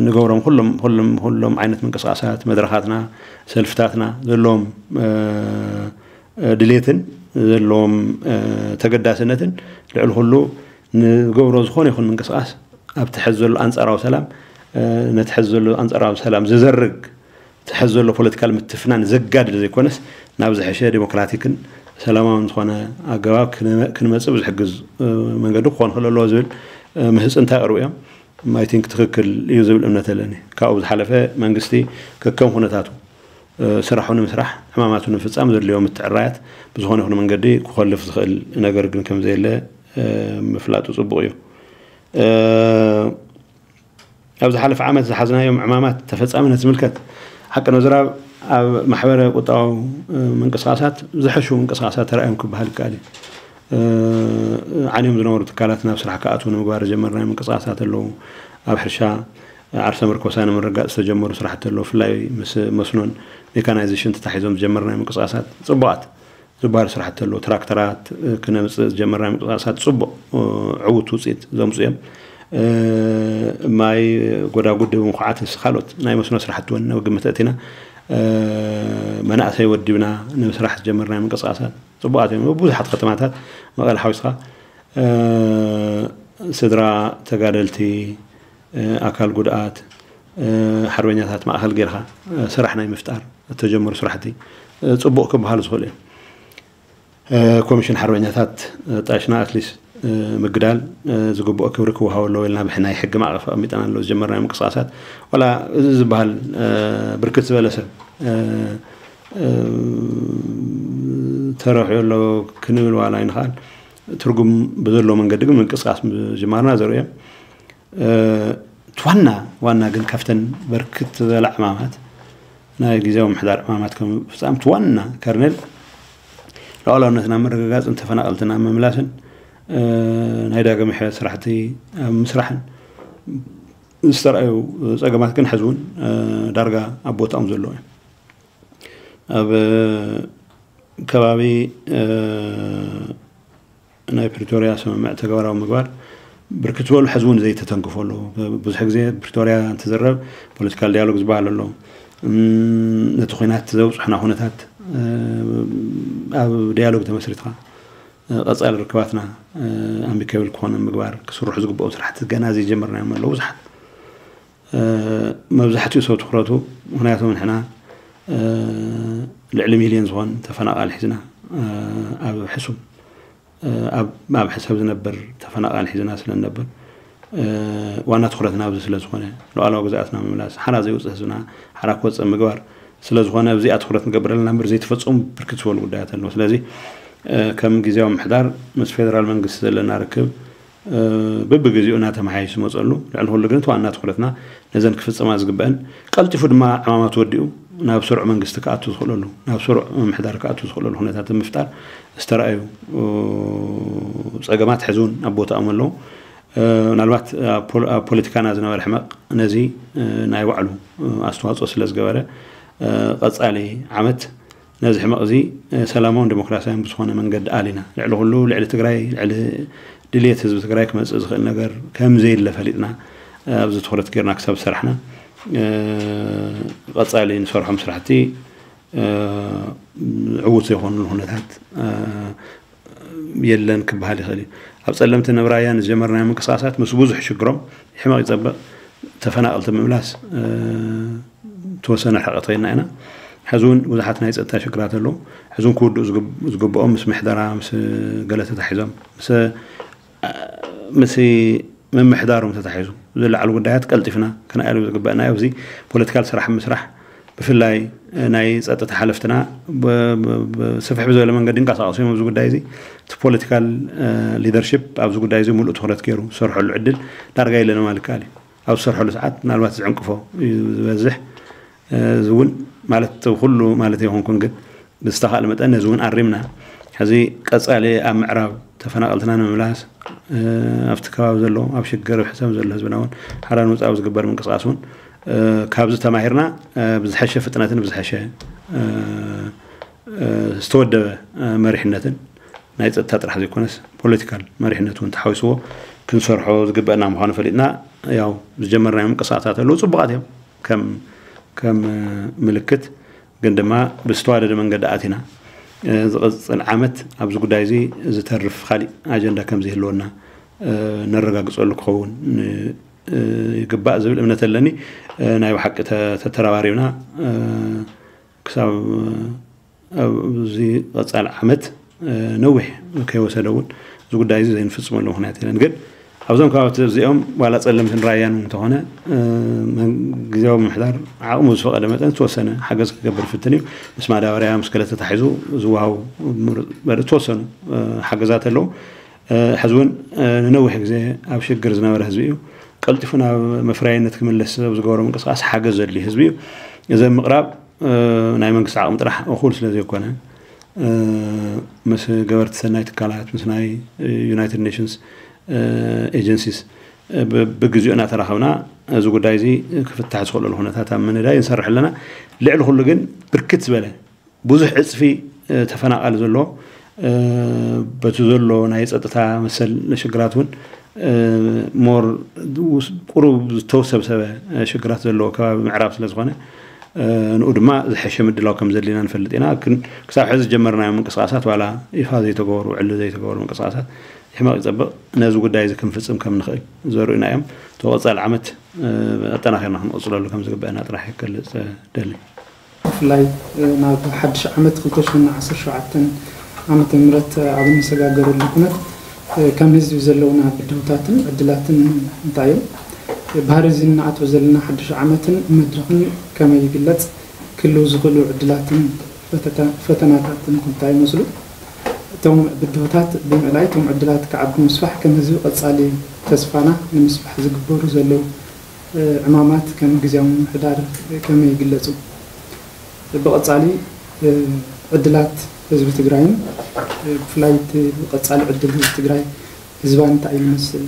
ንገብሮም ኩሎም ኩሎም ኩሎም ዓይነት ምንቅስቃሳት መድረኻትና ሰልፍታትና ዘለዎም ድሌትን ዘለዎም ተገዳስነትን ልዕሊ ኩሉ ንገብሮ ዝኾነ ይኹን ምንቅስቃስ ኣብቲ ሕዚ ዘሎ ኣንጻራዊ ሰላም ነቲ ሕዚ ዘሎ ኣንጻራዊ ሰላም ዝዘርግ እቲ ሕዚ ዘሎ ፖለቲካል ምትፍናን ዘጋድድ ዘይኮነስ ናብ ዝሐሸ ዴሞክራቲክን ሰላማውን ዝኾነ ኣገባብ ክንመፅእ ብዝሕግዝ መንገዲ ክኾን ክእል ኣለዎ ዝብል ምህፅንታ ይቕርቡ እዮም። I think ትኽክል እዩ ዝብል እምነት ኣለኒ። ካብኡ ዝሓለፈ መንግስቲ ከከም ኩነታቱ ስራሑ ንምስራሕ ዕማማቱ ንምፍፃም ዘድልዮ ምትዕራያት ብዝኾነ ይኹን መንገዲ ክኾልፍ ዝኽእል ነገር ግን ከም ዘየለ ምፍላጡ ፅቡቕ እዩ። ኣብ ዝሓለፈ ዓመት ዝሓዝናዮም ዕማማት ተፈፃምነት ዝምልከት ሓቂ ንምዝራብ ኣብ ማሕበረ ቁጠባዊ ምንቅስቃሳት ዝሐሹ ምንቅስቃሳት ተራእዮም ክበሃል ይከኣል እዩ። ዓንዮም ዝነበሩ ትካላት ናብ ስራሕ ክኣትዉ ንምግባር ዝጀመርናዮም ምንቅስቃሳት ኣለዉ። ኣብ ሕርሻ ዓርሰ ምርኮሳ ንምርጋፅ ዝተጀመሩ ስራሕቲ ኣለዉ። ብፍላይ ምስ መስኖን ሜካናይዜሽን ተታሒዞም ዝጀመርናዮም ምንቅስቃሳት ፅቡቓት ዝበሃሉ ስራሕቲ ኣለዉ። ትራክተራት ክነምፅእ ዝጀመርናዮም ምንቅስቃሳት ፅቡቕ ዕውት ውፅኢት ዘምፁ እዮም። ማይ ጎዳጉዲ ብምኹዓት ምስ ካልኦት ናይ መስኖ ስራሕቲ እውን ናብ ግምት ኣእቲና መናእሰይ ወዲብና ንምስራሕ ዝጀመርናዮም ምንቅስቃሳት ፅቡቓት እዮም። ብዙሓት ከተማታት መቐለ ሓዊስካ ስድራ ተጋደልቲ፣ ኣካል ጉድኣት፣ ሓርበኛታት ማእኸል ጌርካ ስራሕ ናይ ምፍጣር እተጀመሩ ስራሕቲ ፅቡቕ ክበሃሉ ዝኽእሉ እዮም። ኮሚሽን ሓርበኛታት ጣሽና ኣትሊስት ምግዳል ዝግብኦ ክብሪ ክወሃቦ ኣለዎ ኢልና ብናይ ሕጊ ማዕቐፍ ኣቐሚጠና ኣሎ ዝጀመርናዮ ምንቅስቃሳት ዋላ እዚ ዝበሃል ብርክት ዝበለ ሰብ ተረኺቡ ኣሎ ክንብል ዋላ ኣይንኽኣል። ትርጉም ብዘለዎ መንገዲ ግን ምንቅስቃስ ምጅማርና ዘርኢ እዮም። እቲ ዋና ዋና ግን ካብተን በርክት ዝበላ ዕማማት ናይ ግዜያዊ ምሕዳር ዕማማት ከም ፍፃም እቲ ዋና ከርነል ሉዓላውነትና ምርግጋፅን ተፈናቐልትና ምምላስን ናይ ዳግም ሕበት ስራሕቲ ኣብ ምስራሕን ዝተረኣዩ ፀገማት ግን ሕዚ እውን ዳርጋ ኣብ ቦታኦም ዘለዎ እዩ። ኣብ ከባቢ ናይ ፕሪቶርያ ስምምዕ ተግባራዊ ምግባር ብርክት ዝበሉ ሕዚ እውን ዘይተተንክፉ ኣለዉ። ብዙሕ ግዜ ፕሪቶርያ እንትዝረብ ፖለቲካል ዲያሎግ ዝበሃል ኣሎ። ነቲ ኩናት ዘብፅሑና ኩነታት ኣብ ዲያሎግ ተመስሪትካ ቀፃሊ ርክባትና ኣሚካብል ክኾነ ምግባር ክስርሑ ዝግብኦም ስራሕቲ ገና ዘይጀመርናዮም ኣለዉ ብዙሓት። መብዛሕትኡ ሰብ ትኩረቱ ምክንያቱ ንሕና ልዕሊ ሚልዮን ዝኾን ተፈናቃል ሒዝና ኣብ ሕሱም ኣብ ሕሰብ ዝነብር ተፈናቃል ሒዝና ስለ ንነብር ዋና ትኩረትና ኣብዚ ስለ ዝኾነ ሉዓላዊ ግዝኣትና ምምላስ ሓራ ዘይውፅእ ህዝብና ሓራ ክወፅእ ምግባር ስለ ዝኾነ ኣብዚኣ ትኩረት ንገብር ኣለና እምበር ዘይተፈፀሙ ብርክት ዝበሉ ጉዳያት ኣለዉ። ስለዚ ከም ግዜያዊ ምሕዳር ምስ ፌደራል መንግስቲ ዘለና ርክብ በብግዜኡ እናተመሓየሽ ዝመፀሉ ልዕሊ ኩሉ ግን እቲ ዋና ትኩረትና ነዘን ክፍፀማ ዝግበአን ቀልጢፉ ድማ ዕማማት ወዲኡ ናብ ስሩዕ መንግስቲ ክኣቱ ዝኽእለሉ ናብ ስሩዕ ምምሕዳር ክኣቱ ዝኽእለሉ ኩነታት ምፍጣር ዝተረኣዩ ፀገማት ሕዚ እውን ኣብ ቦታኦም ኣለዉ። ምናልባት ኣብ ፖለቲካና ዝነበረ ሕመቕ ነዚ ናይ ባዕሉ ኣስተዋፅኦ ስለ ዝገበረ ቀፃሊ ዓመት ነዚ ሕመቕ እዚ ሰላማውን ዲሞክራሲያውን ብዝኾነ መንገዲ ኣሊና ልዕሊ ኩሉ ልዕሊ ትግራይ ልዕሊ ድልየት ህዝቢ ትግራይ ክመፅእ ዝኽእል ነገር ከም ዘየለ ፈሊጥና ኣብዚ ትኩረት ጌርና ክሳብ ዝሰራሕና ቀፃሊ ንሰርሖም ስራሕቲ ዕዉት ዘይኮኑሉ ኩነታት የለን ክበሃል ይኽእል እዩ። ኣብ ፀለምቲ ንብራያ ንዝጀመርናዮ ምንቅስቃሳት ምስ ብዙሕ ሽግሮም ሕመቕ ይፀበቕ ተፈናቐልቲ ምምላስ ተወሰነ ርሕቐት ኸይድና ኢና። ሕዚ እውን ብዙሓት ናይ ፀጥታ ሽግራት ኣለዉ። ሕዚ እውን ክውድኡ ዝግብኦም ምስ ምሕደራ ምስ ገለ ተታሒዞም ምስ ምስ ምምሕዳሮም ተታሒዙ ዝለዓሉ ጉዳያት ቀልጢፍና ክነኣሉ ዝግበእና ኣብዚ ፖለቲካል ስራሕ ምስራሕ ብፍላይ ናይ ፀጥታ ሓለፍትና ስፍሕ ብዝበለ መንገዲ እንቀሳቀሱ እዮም ኣብዚ ጉዳይ እዚ እቲ ፖለቲካል ሊደርሽፕ ኣብዚ ጉዳይ እዚ ሙሉእ ትኩረት ገይሩ ዝሰርሐሉ ዕድል ዳርጋ የለን ማለት ይከኣል እዩ። ኣብ ዝሰርሐሉ ሰዓት ምናልባት ዝዕንቅፎ እዩ ዝበዝሕ እዚ እውን ማለት ኩሉ ማለት ኣይኮንኩን ግን ብዝተኻእለ መጠን ነዚ እውን ኣሪምና ሕዚ ቀፃሊ ኣብ ምዕራብ ተፈናቐልትና ንምምላስ ኣብቲ ከባቢ ዘሎ ኣብ ሽግር ኣብ ሕሰም ዘሎ ህዝብና እውን ሓራ ንምፃእ ዝግበር ምንቅስቃስ እውን ካብዚ ተማሂርና ብዝሐሸ ፍጥነትን ብዝሐሸ ዝተወደበ መሪሕነትን ናይ ፀጥታ ጥራሕ ዘይኮነስ ፖለቲካል መሪሕነት እውን ተሓዊስዎ ክንሰርሖ ዝግበአና ምዃኑ ፈሊጥና ያው ዝጀመርናዮ ምንቅስቃሳት ኣለዉ ፅቡቃት እዮም ከም ከም ምልክት ግን ድማ ብዝተዋደደ መንገዲ ኣቲና ዝቕፅል ዓመት ኣብዚ ጉዳይ እዚ ዝተርፍ ካሊእ ኣጀንዳ ከም ዘይህልወና ነረጋግፀሉ ክኸውን ይግባእ ዝብል እምነት ኣለኒ። ናይ ብሓቂ ተተረባሪብና ክሳብ ኣብዚ ቀፃሊ ዓመት ነዊሕ ከይወሰደ እውን እዚ ጉዳይ እዚ ዘይንፍፅመሉ ምክንያት የለን ግን ኣብዞም ከባቢ እዚኦም ዋላ ፀለምትን ራያን እንተኾነ ግዜያዊ ምምሕዳር ዓቕሙ ዝፈቐደ መጠን ዝተወሰነ ሓገዝ ክገብር ፍትን እዩ ምስ ማዳበርያ ምስ ገለ ተታሒዙ ዝወሃቡ ዝተወሰኑ ሓገዛት ኣለዉ ሕዚ እውን ንነዊሕ ግዜ ኣብ ሽግር ዝነበረ ህዝቢ እዩ ቀልጢፉ ናብ መፍረያይነት ክምለስ ኣብ ዝገበሮ ምንቅስቃስ ሓገዝ ዘድልዩ ህዝቢ እዩ እዚ ምቕራብ ናይ መንግስቲ ዓቕሚ ጥራሕ እኹል ስለ ዘይኮነ ምስ ገበርቲ ሰናይ ትካላት ምስ ናይ ዩናይትድ ኔሽንስ ኤጀንሲስ ብግዜኡ እናተራኸብና እዚ ጉዳይ እዚ ክፍታሕ ዝኽእለሉ ኩነታት ኣብ ምንዳይ ንሰርሕ ኣለና ልዕሊ ኩሉ ግን ብርክት ዝበለ ብዙሕ ዕፅፊ ተፈናቓሊ ዘሎ በቲ ዘሎ ናይ ፀጥታ መሰል ሽግራት እውን ሞር ቁሩብ ዝተውሰብሰበ ሽግራት ዘለዎ ከባቢ ምዕራብ ስለ ዝኾነ ንኡ ድማ ዝሐሸ ምድላው ከም ዘድልየና ንፈልጥ ኢና ክሳብ ሕዚ ዝጀመርናዮ ምንቅስቃሳት ዋላ ይፋ ዘይተገበሩ ዕሊ ዘይተገበሩ ምንቅስቃሳት ይሕመቕ ይፀብቕ ነዚ ጉዳይ እዚ ክንፍፅም ከም ንኽእል ዘርእዩና እዮም ተወፃል ዓመት ኣጠናኺርና ክንቕፅለሉ ከም ዝግበአና ጥራሕ ይገልፅ ደሊ ብፍላይ ናብ ሓድሽ ዓመት ክልተ ሽሕን ዓሰርተ ሸውዓተን ዓመተ ምህረት ኣብ እንሰጋገረሉ ኩነት ከም ህዝቢ ዘለውና ብድሆታትን ዕድላትን እንታይ እዮም? ባህሪ እዚ እንኣትዎ ዘለና ሓድሽ ዓመትን መድረኽን ከመይ ይግለፅ? ክህልው ዝኽእሉ ዕድላትን ፈተናታትን እንታይ ይመስሉ? እቶም ብድሆታት ብምእላይ እቶም ዕድላት ክዓቢ ምስፋሕ ከም ህዝቢ ቀፃሊ ተስፋና ንምስፋሕ ዝግበሩ ዘለዉ ዕማማት ከም ግዜያዊ ምምሕዳር ከመይ ይግለፁ? ብቐፃሊ ዕድላት ህዝቢ ትግራይን ብፍላይ እቲ ብቐፃሊ ዕድል ህዝቢ ትግራይ ህዝባ እንታይ እዩ ዝመስል?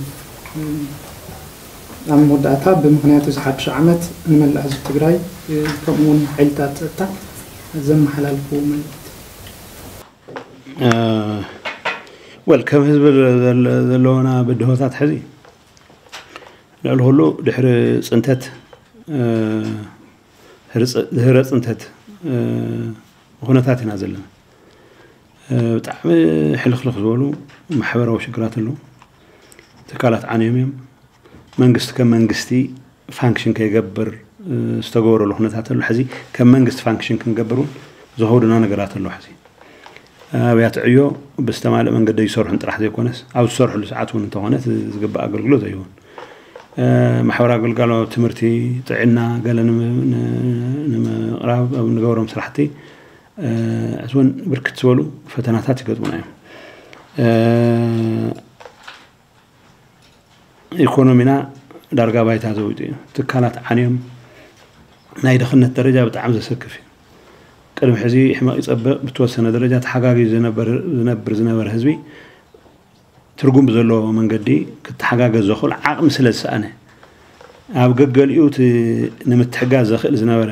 ኣብ መወዳእታ ብምኽንያት እዚ ሓድሽ ዓመት ንመላእ ህዝቢ ትግራይ ከምኡ እውን ሓይልታት ፀጥታ ዘመሓላልፍዎ መልእኽቲ ወል ከም ህዝቢ ዘለዎና ብድሆታት ሕዚ ልዕሊ ኩሉ ድሕሪ ፅንተት ድህረ ፅንተት ኩነታት ኢና ዘለና። ብጣዕሚ ሕልኽልኽ ዝበሉ ማሕበራዊ ሽግራት ኣለዉ። ትካላት ዓንዮም እዮም። መንግስቲ ከም መንግስቲ ፋንክሽን ከይገብር ዝተገበረሉ ኩነታት ኣሎ። ሕዚ ከም መንግስቲ ፋንክሽን ክንገብር እውን ዝኸብዱና ነገራት ኣሎ። ሕዚ ኣብያተ ዕዮ ብዝተማልእ መንገዲ ይሰርሑን ጥራሕ ዘይኮነስ፣ ኣብ ዝሰርሕሉ ሰዓት እውን እንተኾነ ዝግባእ ኣገልግሎት ኣይህቡን። ማሕበራዊ ኣገልጋሎ፣ ትምህርቲ፣ ጥዕና ገለ ንምቕራብ ኣብ ንገብሮም ስራሕቲ ሕዚ እውን ብርክት ዝበሉ ፈተናታት ይገጥሙና እዮም። ኢኮኖሚና ዳርጋ ባይታ ዘዊጡ እዩ። ትካላት ዓንዮም፣ ናይ ድኽነት ደረጃ ብጣዕሚ ዘሰክፍ እዩ። ቅድሚ ሕዚ ሕመቕ ይጸብቕ፣ ብተወሰነ ደረጃ ተሓጋጊ ዝነብር ዝነብር ዝነበረ ህዝቢ ትርጉም ብዘለዎ መንገዲ ክተሓጋገዝ ዘኽእል ዓቕሚ ስለ ዝሰኣነ፣ ኣብ ገገሊኡ እቲ ንምትሕጋዝ ዘኽእል ዝነበረ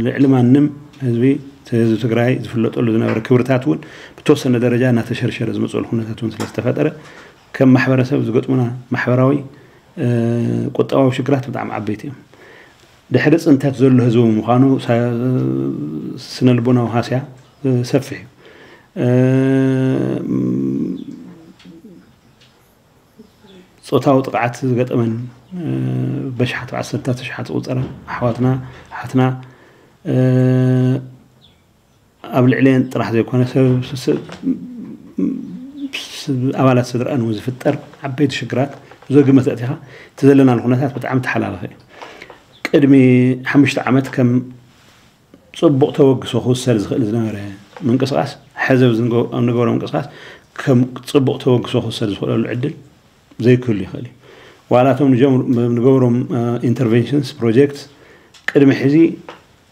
ልዕሊ ማንም ህዝቢ፣ ህዝቢ ትግራይ ዝፍለጠሉ ዝነበረ ክብርታት እውን ብተወሰነ ደረጃ እናተሸርሸረ ዝመፅሉ ኩነታት እውን ስለዝተፈጠረ፣ ከም ማሕበረሰብ ዝገጥሙና ማሕበራዊ ቁጠባዊ ሽግራት ብጣዕሚ ዓበይቲ እዮም። ድሕሪ ፅንተት ዘሎ ህዝቢ ምዃኑ ስነ ልቦናዊ ሃስያ ሰፊሕ እዩ። ፆታዊ ጥቕዓት ዝገጠመን በሽሓት ብዓሰርታት ሽሓት ዝቑፀራ ኣሕዋትና ኣሓትና ኣብ ልዕሊአን ጥራሕ ዘይኮነ ኣባላት ስድራኣን እውን ዝፍጠር ዓበይቲ ሽግራት ብዘግመት ኣእቲኻ እቲ ዘለናሉ ኩነታት ብጣዕሚ ተሓላለኸ እዩ። ቅድሚ ሓሙሽተ ዓመት ከም ፅቡቕ ተበግሶ ክውሰድ ዝኽእል ዝነበረ ምንቅስቃስ፣ ሕዚ ኣብ ንገብሮ ምንቅስቃስ ከም ፅቡቕ ተበግሶ ክውሰድ ዝኽእለሉ ዕድል ዘይክህሉ ይኽእል እዩ። ዋላ እቶም ንገብሮም ኢንተርቨንሽንስ ፕሮጀክት ቅድሚ ሕዚ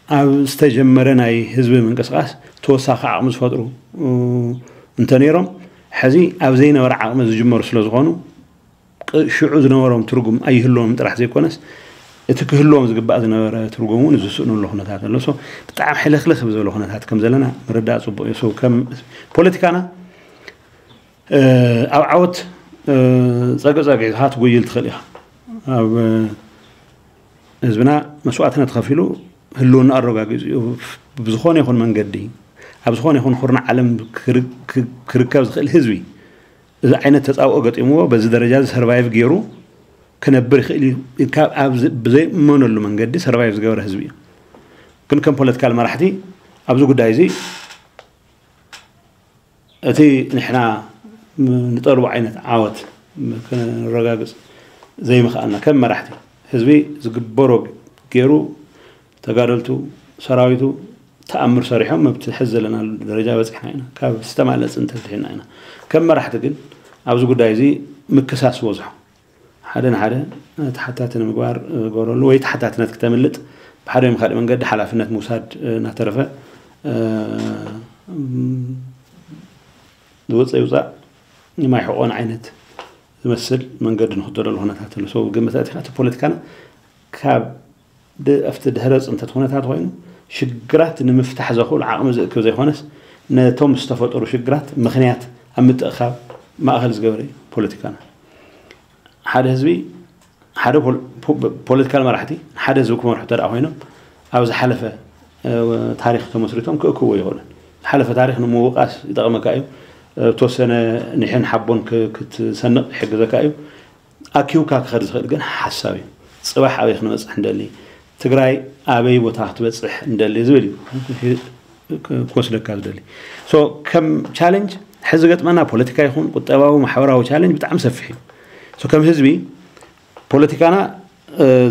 ኣብ ዝተጀመረ ናይ ህዝቢ ምንቅስቃስ ተወሳኺ ዓቕሚ ዝፈጥሩ እንተነይሮም፣ ሕዚ ኣብ ዘይነበረ ዓቕሚ ዝጅመሩ ስለ ዝኾኑ፣ ሽዑ ዝነበሮም ትርጉም ኣይህልዎም ጥራሕ ዘይኮነስ፣ እቲ ክህልዎም ዝግባእ ዝነበረ ትርጉም እውን ዝስእኑሉ ኩነታት ኣሎ። ብጣዕሚ ሕልኽልኽ ብዝበለ ኩነታት ከም ዘለና ምርዳእ ፅቡቅ እዩ። ከም ፖለቲካና ኣብ ዓወት ጸገጸጊዕካ ትጎይል ትኽእል ኢኻ። ኣብ ህዝብና መስዋእትነት ከፊሉ ህልውና ኣረጋጊጹ እዩ። ብዝኾነ ይኹን መንገዲ፣ ኣብ ዝኾነ ይኹን ኩርናዕ ዓለም ክርከብ ዝኽእል ህዝቢ፣ እዚ ዓይነት ተጻብኦ ገጢምዎ፣ በዚ ደረጃ እዚ ሰርቫይቭ ገይሩ ክነብር ይኽእል እዩ ኢልካ ኣብ ብዘይእመነሉ መንገዲ ሰርቫይቭ ዝገበረ ህዝቢ እዩ። ግን ከም ፖለቲካል መራሕቲ ኣብዚ ጉዳይ እዚ እቲ ንሕና ንጠልቦ ዓይነት ዓወት ከነረጋግጽ ዘይምኽኣልና፣ ከም መራሕቲ ህዝቢ ዝግበሮ ገይሩ፣ ተጋደልቱ፣ ሰራዊቱ ተኣምር ሰሪሖም ኣብቲ ሕዚ ዘለናሉ ደረጃ በጺሕና ኢና። ካብ ዝተማልአ ጽንተት ድሒና ኢና። ከም መራሕቲ ግን ኣብዚ ጉዳይ እዚ ምክሳስ በዝሖ። ሓደ ንሓደ ተሓታቲ ንምግባር ዝገብረሉ ወይ ተሓታትነት ክተምልጥ ብሓደ ወይ ካልእ መንገዲ ሓላፍነት ምውሳድ እናተረፈ ዝወፀ ይውፃእ የማይሕቆን ዓይነት ዝመስል መንገዲ ንኽተለሉ ኩነታት ኣሎ። ሰው ግምት ኣእቲኻ እቲ ፖለቲካና ካብ ኣብቲ ድሕረ ፅንተት ኩነታት ኮይኑ ሽግራት ንምፍታሕ ዘኽእሉ ዓቕሚ ዝእክብ ዘይኮነስ ነቶም ዝተፈጠሩ ሽግራት ምኽንያት ኣብ ምጥእኻብ ማእኸል ዝገበረ እዩ ፖለቲካና። ሓደ ህዝቢ ሓደ ፖለቲካል መራሕቲ ሓደ ህዝቢ ክመርሑ እንተ ኮይኖም ኣብ ዝሓለፈ ታሪክ ተመስሪቶም ክእክብዎ ይኽእሉ። ዝሓለፈ ታሪክ ንምውቃስ ይጠቕመካ እዩ። ተወሰነ ኒሕን ሓቦን ክትሰንቕ ይሕግዘካ እዩ። ኣኪውካ ክኸድ ዝኽእል ግን ሓሳብ እዩ። ፅባሕ ኣበይ ክንበፅሕ እንደሊ፣ ትግራይ ኣበይ ቦታ ክትበፅሕ እንደሊ ዝብል እዩ ክወስደካ ዝደሊ። ከም ቻለንጅ ሕዚ ገጥመና ፖለቲካ ይኹን ቁጠባዊ ማሕበራዊ ቻለንጅ ብጣዕሚ ሰፊሕ እዩ። ከም ህዝቢ ፖለቲካና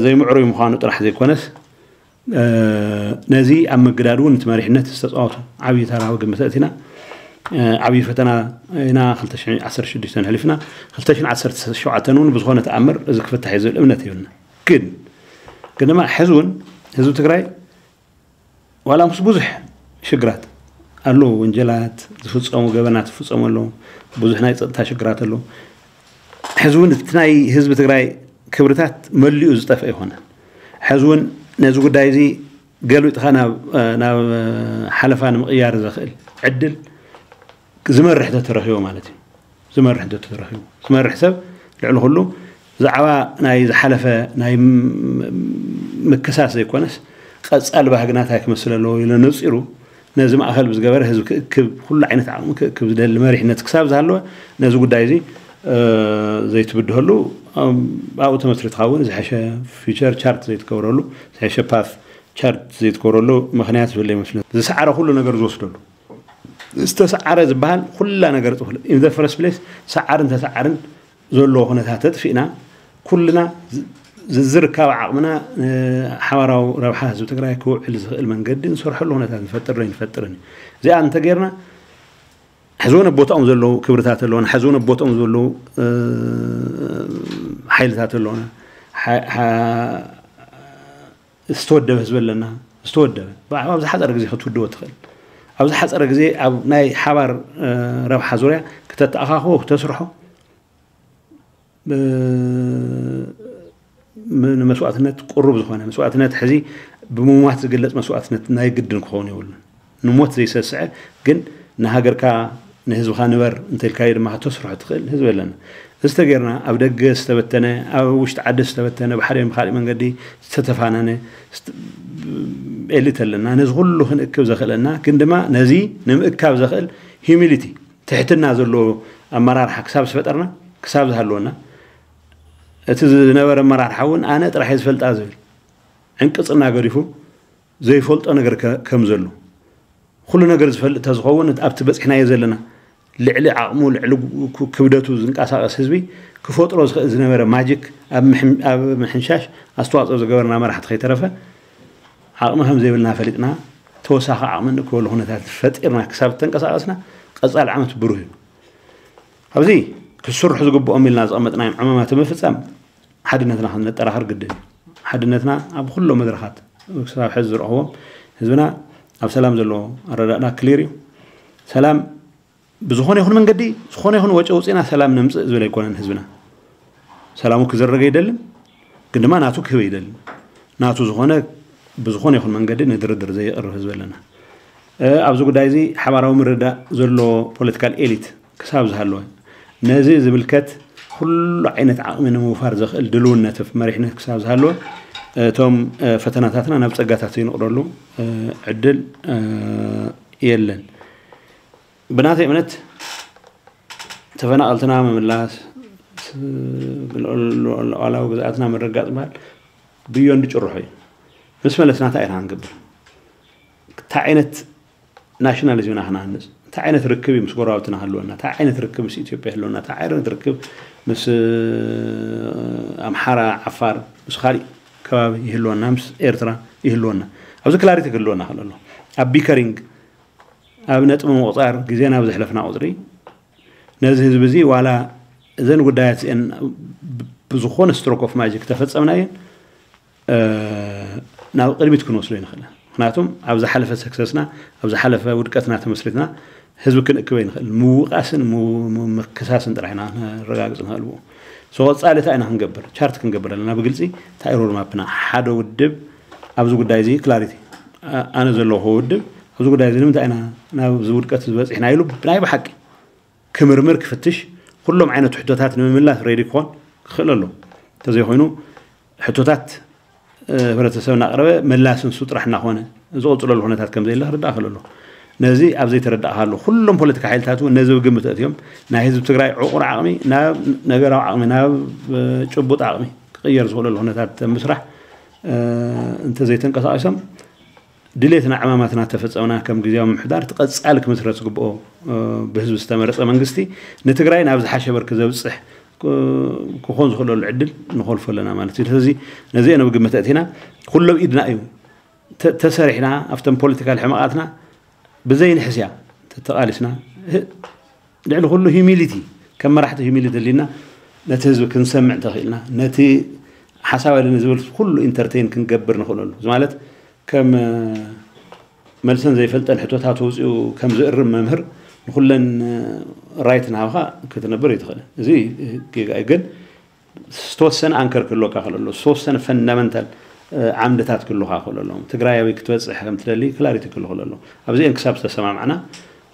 ዘይምዕሩይ ምዃኑ ጥራሕ ዘይኮነስ ነዚ ኣብ ምግዳድ እውን እቲ መሪሕነት ዝተፃወቱ ዓብዪ ተራ ግምት ኣእቲና ዓብዪ ፈተና ኢና። ክልተ ሽሕን ዓሰርተ ሽዱሽተን ሕሊፍና ክልተ ሽሕን ዓሰርተ ሸውዓተን እውን ብዝኾነ ተኣምር እዚ ክፍታሕ እዩ ዝብል እምነት የብልና። ግን ግን ድማ ሕዚ እውን ህዝቢ ትግራይ ዋላ ምስ ብዙሕ ሽግራት ኣለዉ፣ ወንጀላት ዝፍፀሙ፣ ገበናት ዝፍፀሙ ኣለዉ፣ ብዙሕ ናይ ፀጥታ ሽግራት ኣለዉ። ሕዚ እውን እቲ ናይ ህዝቢ ትግራይ ክብርታት መሊኡ ዝጠፍአ ኣይኮነን። ሕዚ እውን ነዚ ጉዳይ እዚ ገልቢጥካ ናብ ናብ ሓለፋ ንምቕያር ዘኽእል ዕድል ዝመርሕ ተተረኺቡ ማለት እዩ። ዝመርሕ ተተረኺቡ ዝመርሕ ሰብ ልዕሊ ኩሉ ብዛዕባ ናይ ዝሓለፈ ናይ ምክሳስ ዘይኮነስ ቀፃሊ ባህግና እንታይ ክመስል ኣለዎ ኢሉ ነፂሩ ነዚ ማእኸል ብዝገበረ ህዝቢ ክእክብ፣ ኩሉ ዓይነት ዓቕሚ ክእክብ ዝደሊ መሪሕነት ክሳብ ዝሃለወ፣ ነዚ ጉዳይ እዚ ዘይትብድሀሉ፣ ኣብኡ ተመስሪትካ እውን ዝሐሸ ፊቸር ቻርት ዘይትገብረሉ፣ ዝሐሸ ፓት ቻርት ዘይትገብረሉ ምኽንያት ዝህሉ ይመስለኒ። ዝሰዓረ ኩሉ ነገር ዝወስደሉ፣ ዝተሰዓረ ዝበሃል ኩላ ነገር ጽፉል ኢን ዘ ፈረስት ፕሌስ። ሰዓርን ተሰዓርን ዘለዎ ኩነታት ተጥፊእና፣ ኩልና ዝርካብ ዓቕምና ሓባራዊ ረብሓ ህዝቢ ትግራይ ክውዕል ዝኽእል መንገዲ ንሰርሐሉ ኩነታት ንፈጥር ዶ ይንፈጥርን እዩ። እዚኣ እንተጌርና፣ ሕዚ እውን ኣብ ቦታኦም ዘለዉ ክብርታት ኣለዉና፣ ሕዚ እውን ኣብ ቦታኦም ዘለዉ ሓይልታት ኣለዉና። ዝተወደበ ህዝቢ ኣለና። ዝተወደበ ኣብ ዝሓፀረ ግዜ ክትውድቦ ትኽእል፣ ኣብ ዝሓፀረ ግዜ ኣብ ናይ ሓባር ረብሓ ዙርያ ክተተኣኻኽቦ ክተስርሖ፣ ንመስዋእትነት ቅሩብ ዝኾነ መስዋእትነት፣ ሕዚ ብምሟት ዝግለፅ መስዋእትነት ናይ ግድን ክኸውን የብሉን። ንሞት ዘይሰስዐ ግን ንሃገርካ ንህዝብኻ ንበር እንተልካዮ ድማ ከተስርሖ ትኽእል ህዝቢ ኣለና። እዚ ተጌርና ኣብ ደገ ዝተበተነ፣ ኣብ ውሽጢ ዓዲ ዝተበተነ፣ ብሓደ ብካሊእ መንገዲ ዝተተፋነነ ኤሊት ኣለና። ነዚ ኩሉ ክንእክብ ዘኽእለና ግን ድማ ነዚ ንምእካብ ዘኽእል ሂዩሚሊቲ፣ ትሕትና ዘለዎ ኣመራርሓ ክሳብ ዝፈጠርና፣ ክሳብ ዝሃለወና፣ እቲ ዝነበረ ኣመራርሓ እውን ኣነ ጥራሕ እየ ዝፈልጣ ዝብል ዕንቅፅና ገዲፉ ዘይፈልጦ ነገር ከም ዘሎ፣ ኩሉ ነገር ዝፈልጥ ተዝኸውን ኣብቲ በፂሕናዮ ዘለና ልዕሊ ዓቕሙ ልዕሊ ክብደቱ ዝንቀሳቐስ ህዝቢ ክፈጥሮ ዝኽእል ዝነበረ ማጂክ ኣብ ምሕንሻሽ ኣስተዋፅኦ ዝገበርና መራሕቲ ከይተረፈ ዓቕሚ ከም ዘይብልና ፈሊጥና ተወሳኺ ዓቕሚ እንእክበሉ ኩነታት ፈጢርና ክሳብ ተንቀሳቐስና ቀፃሊ ዓመት ብሩህ እዩ። ኣብዚ ክስርሑ ዝግብኦም ኢልና ዝቐመጥናዮም ዕማማት ምፍፃም ሓድነትና ክንጠራኸር ግድን እዩ። ሓድነትና ኣብ ኩሎም መድረኻት ክሳብ ሕዚ ዝረኽቦም ህዝብና ኣብ ሰላም ዘለዎ ኣረዳድና ክሊር እዩ። ሰላም ብዝኾነ ይኹን መንገዲ ዝኾነ ይኹን ወጪ ኣውፂእና ሰላም ነምፅእ ዝብል ኣይኮነን ህዝብና። ሰላሙ ክዝረግ ኣይደልን፣ ግን ድማ ናቱ ክህብ ኣይደልን። ናቱ ዝኾነ ብዝኾነ ይኹን መንገዲ ንድርድር ዘይቕርብ ህዝቢ ኣለና። ኣብዚ ጉዳይ እዚ ሓባራዊ ምርዳእ ዘሎ ፖለቲካል ኤሊት ክሳብ ዝሃለወ ነዚ ዝምልከት ኩሉ ዓይነት ዓቕሚ ንምውፋር ዘኽእል ድልውነት መሪሕነት ክሳብ ዝሃለወ እቶም ፈተናታትና ናብ ፀጋታት ዘይንቕረሉ ዕድል የለን። ብናተይ እምነት ተፈናቐልትና ምምላስ፣ ሉዓላዊ ግዝኣትና ምርግጋፅ ምባል ብዮንድ ጭርሖ እዩ። ምስ መለስና እንታይ ኢና ክንገብር? እንታይ ዓይነት ናሽናሊዝም ኢና ክነሃንፅ? እንታይ ዓይነት ርክብ እዩ ምስ ጎረባብትና ክህልወና? እንታይ ዓይነት ርክብ ምስ ኢትዮጵያ ይህልወና? እንታይ ዓይነት ርክብ ምስ ኣምሓራ፣ ዓፋር፣ ምስ ካሊእ ከባቢ ይህልወና፣ ምስ ኤርትራ ይህልወና? ኣብዚ ክላሪቲ ክህልወና ክእል ኣሎ። ኣብ ቢከሪንግ ኣብ ነጥቢ ምቑፃር ግዜና ብዘሕለፍና ቁፅሪ ነዚ ህዝቢ እዚ ዋላ እዘን ጉዳያት እዚአን ብዝኾነ ስትሮክ ኦፍ ማጂክ ተፈፀምናየን ናብ ቅድሚት ክንወስዶ ይንኽእል። ምክንያቱም ኣብ ዝሓለፈ ሰክሰስና ኣብ ዝሓለፈ ውድቀትና ተመስሪትና ህዝቢ ክንእክበ ይንኽእል። ምውቃስን ምክሳስን ጥራሕ ኢና ነረጋግፅ ንኽእል ብኡ። ሶ ቀፃሊ እንታይ ኢና ክንገብር? ቻርት ክንገብር ኣለና ብግልፂ እንታይ ሮድማፕና ሓደ ውድብ ኣብዚ ጉዳይ እዚ ክላሪቲ ኣነ ዘለኹ ውድብ ኣብዚ ጉዳይ እዚ ንምንታይ ኢና ናብዚ ውድቀት ዝበፂሕና ኢሉ ብናይ ብሓቂ ክምርምር ክፍትሽ ኩሎም ዓይነት ሕቶታት ንምምላስ ሬዲ ክኾን ክኽእል ኣሎ። እንተዘይኮይኑ ሕቶታት ህብረተሰብ እናቕረበ ምላስ ንሱ ጥራሕ እናኾነ ዝቕፅለሉ ኩነታት ከም ዘየለ ክርዳእ ክእል ኣሎ። ነዚ ኣብ ዘይተረዳእካሉ ኩሎም ፖለቲካ ሓይልታት እውን ነዚ ብግምት ኣእትዮም ናይ ህዝቢ ትግራይ ዕቑር ዓቕሚ ናብ ነገራዊ ዓቕሚ ናብ ጭቡጥ ዓቕሚ ክቕየር ዝኽእለሉ ኩነታት ምስራሕ እንተዘይተንቀሳቒሶም ድሌትና ዕማማትና ተፈፀምና ከም ግዜያዊ ምምሕዳር እቲ ቀፃሊ ክምስረት ዝግብኦ ብህዝቢ ዝተመረፀ መንግስቲ ንትግራይ ናብ ዝሓሸ በርኪ ዘብፅሕ ክኾን ዝኽእለሉ ዕድል ንኾልፎ ኣለና ማለት እዩ። ስለዚ ነዚ ኣነ ብግምት ኣእቲና ኩሎም ኢድና እዩ ተሰሪሕና ኣብቶም ፖለቲካል ሕመቓትና ብዘይንሕስያ ተተቓሊስና ልዕሊ ኩሉ ሂሚሊቲ ከም መራሕቲ ሂሚሊቲ ህሊና ነቲ ህዝቢ ክንሰምዕ እንተኽኢልና ነቲ ሓሳብ ኣለኒ ዝብል ኩሉ ኢንተርቴን ክንገብር ንኽእለሉ እዚ ማለት ከም መልሰን ዘይፈልጠን ሕቶታት ወፂኡ ከም ዝእርም መምህር ንኩለን ራይት ናብኻ ክትነብር ይትኽእል። እዚ ጌጋ እዩ። ግን ዝተወሰነ ኣንከር ክህልወካ ክእል ኣሎ። ዝተወሰነ ፈንዳመንታል ዓምድታት ክህልወካ ክእል ኣሎ። ትግራይ ኣበይ ክትበፅሕ ከም ትደሊ ክላሪቲ ክህሉ ክእል ኣሎ። ኣብዚአን ክሳብ ዝተሰማማዕና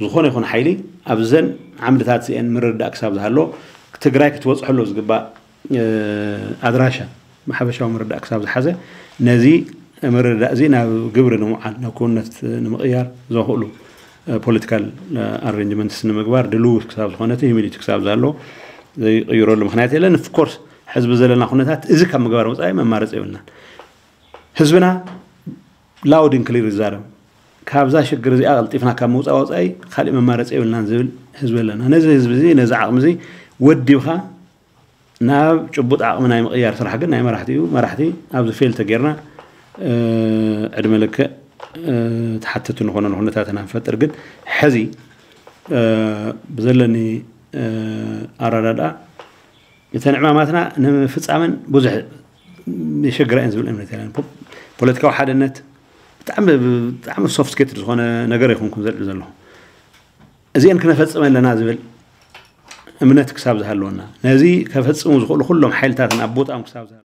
ዝኾነ ይኹን ሓይሊ ኣብዘን ዓምድታት እዚአን ምርድዳእ ክሳብ ዝሃሎ ትግራይ ክትበፅሐሉ ዝግባእ ኣድራሻ ብሓፈሻዊ ምርዳእ ክሳብ ዝሓዘ ነዚ ምርዳእ እዚ ናብ ግብሪ ንምውዓል፣ ናብ ክውነት ንምቕያር ዘኽእሉ ፖለቲካል ኣሬንጅመንትስ ንምግባር ድልው ክሳብ ዝኾነ፣ እቲ ሂዩሚዲቲ ክሳብ ዘሎ ዘይቕይረሉ ምኽንያት የለን። ኦፍኮርስ ሕዝቢ ዘለና ኩነታት እዚ ካብ ምግባር ወፃኢ መማረፂ የብልናን። ህዝብና ላውድ ን ክሊር ይዛረብ። ካብዛ ሽግር እዚኣ ቀልጢፍና ካብ ምውፃእ ወፃኢ ካሊእ መማረፂ የብልናን ዝብል ህዝቢ ኣለና። ነዚ ህዝቢ እዚ፣ ነዚ ዓቕሚ እዚ ወዲብካ ናብ ጭቡጥ ዓቕሚ ናይ ምቕያር ስራሕ ግን ናይ መራሕቲ እዩ። መራሕቲ ኣብዚ ፌል ተጌርና ዕድመ ልክዕ ተሓተቲ ንኾነሉ ኩነታት ኢና ንፈጥር። ግን ሕዚ ብዘለኒ ኣረዳድኣ እተን ዕማማትና ንምፍፃመን ብዙሕ የሸግራ እየን ዝብል እምነት የለን። ፖለቲካዊ ሓድነት ብጣዕሚ ብጣዕሚ ሶፍትስኬትድ ዝኾነ ነገር ኣይኮንኩን ዘልዕል ዘለኹ። እዚአን ክነፈፅም ኣለና ዝብል እምነት ክሳብ ዝሃለወና፣ ነዚ ከፈፅሙ ዝኽእሉ ኩሎም ሓይልታትን ኣብ ቦታኦም ክሳብ ዝሃለወና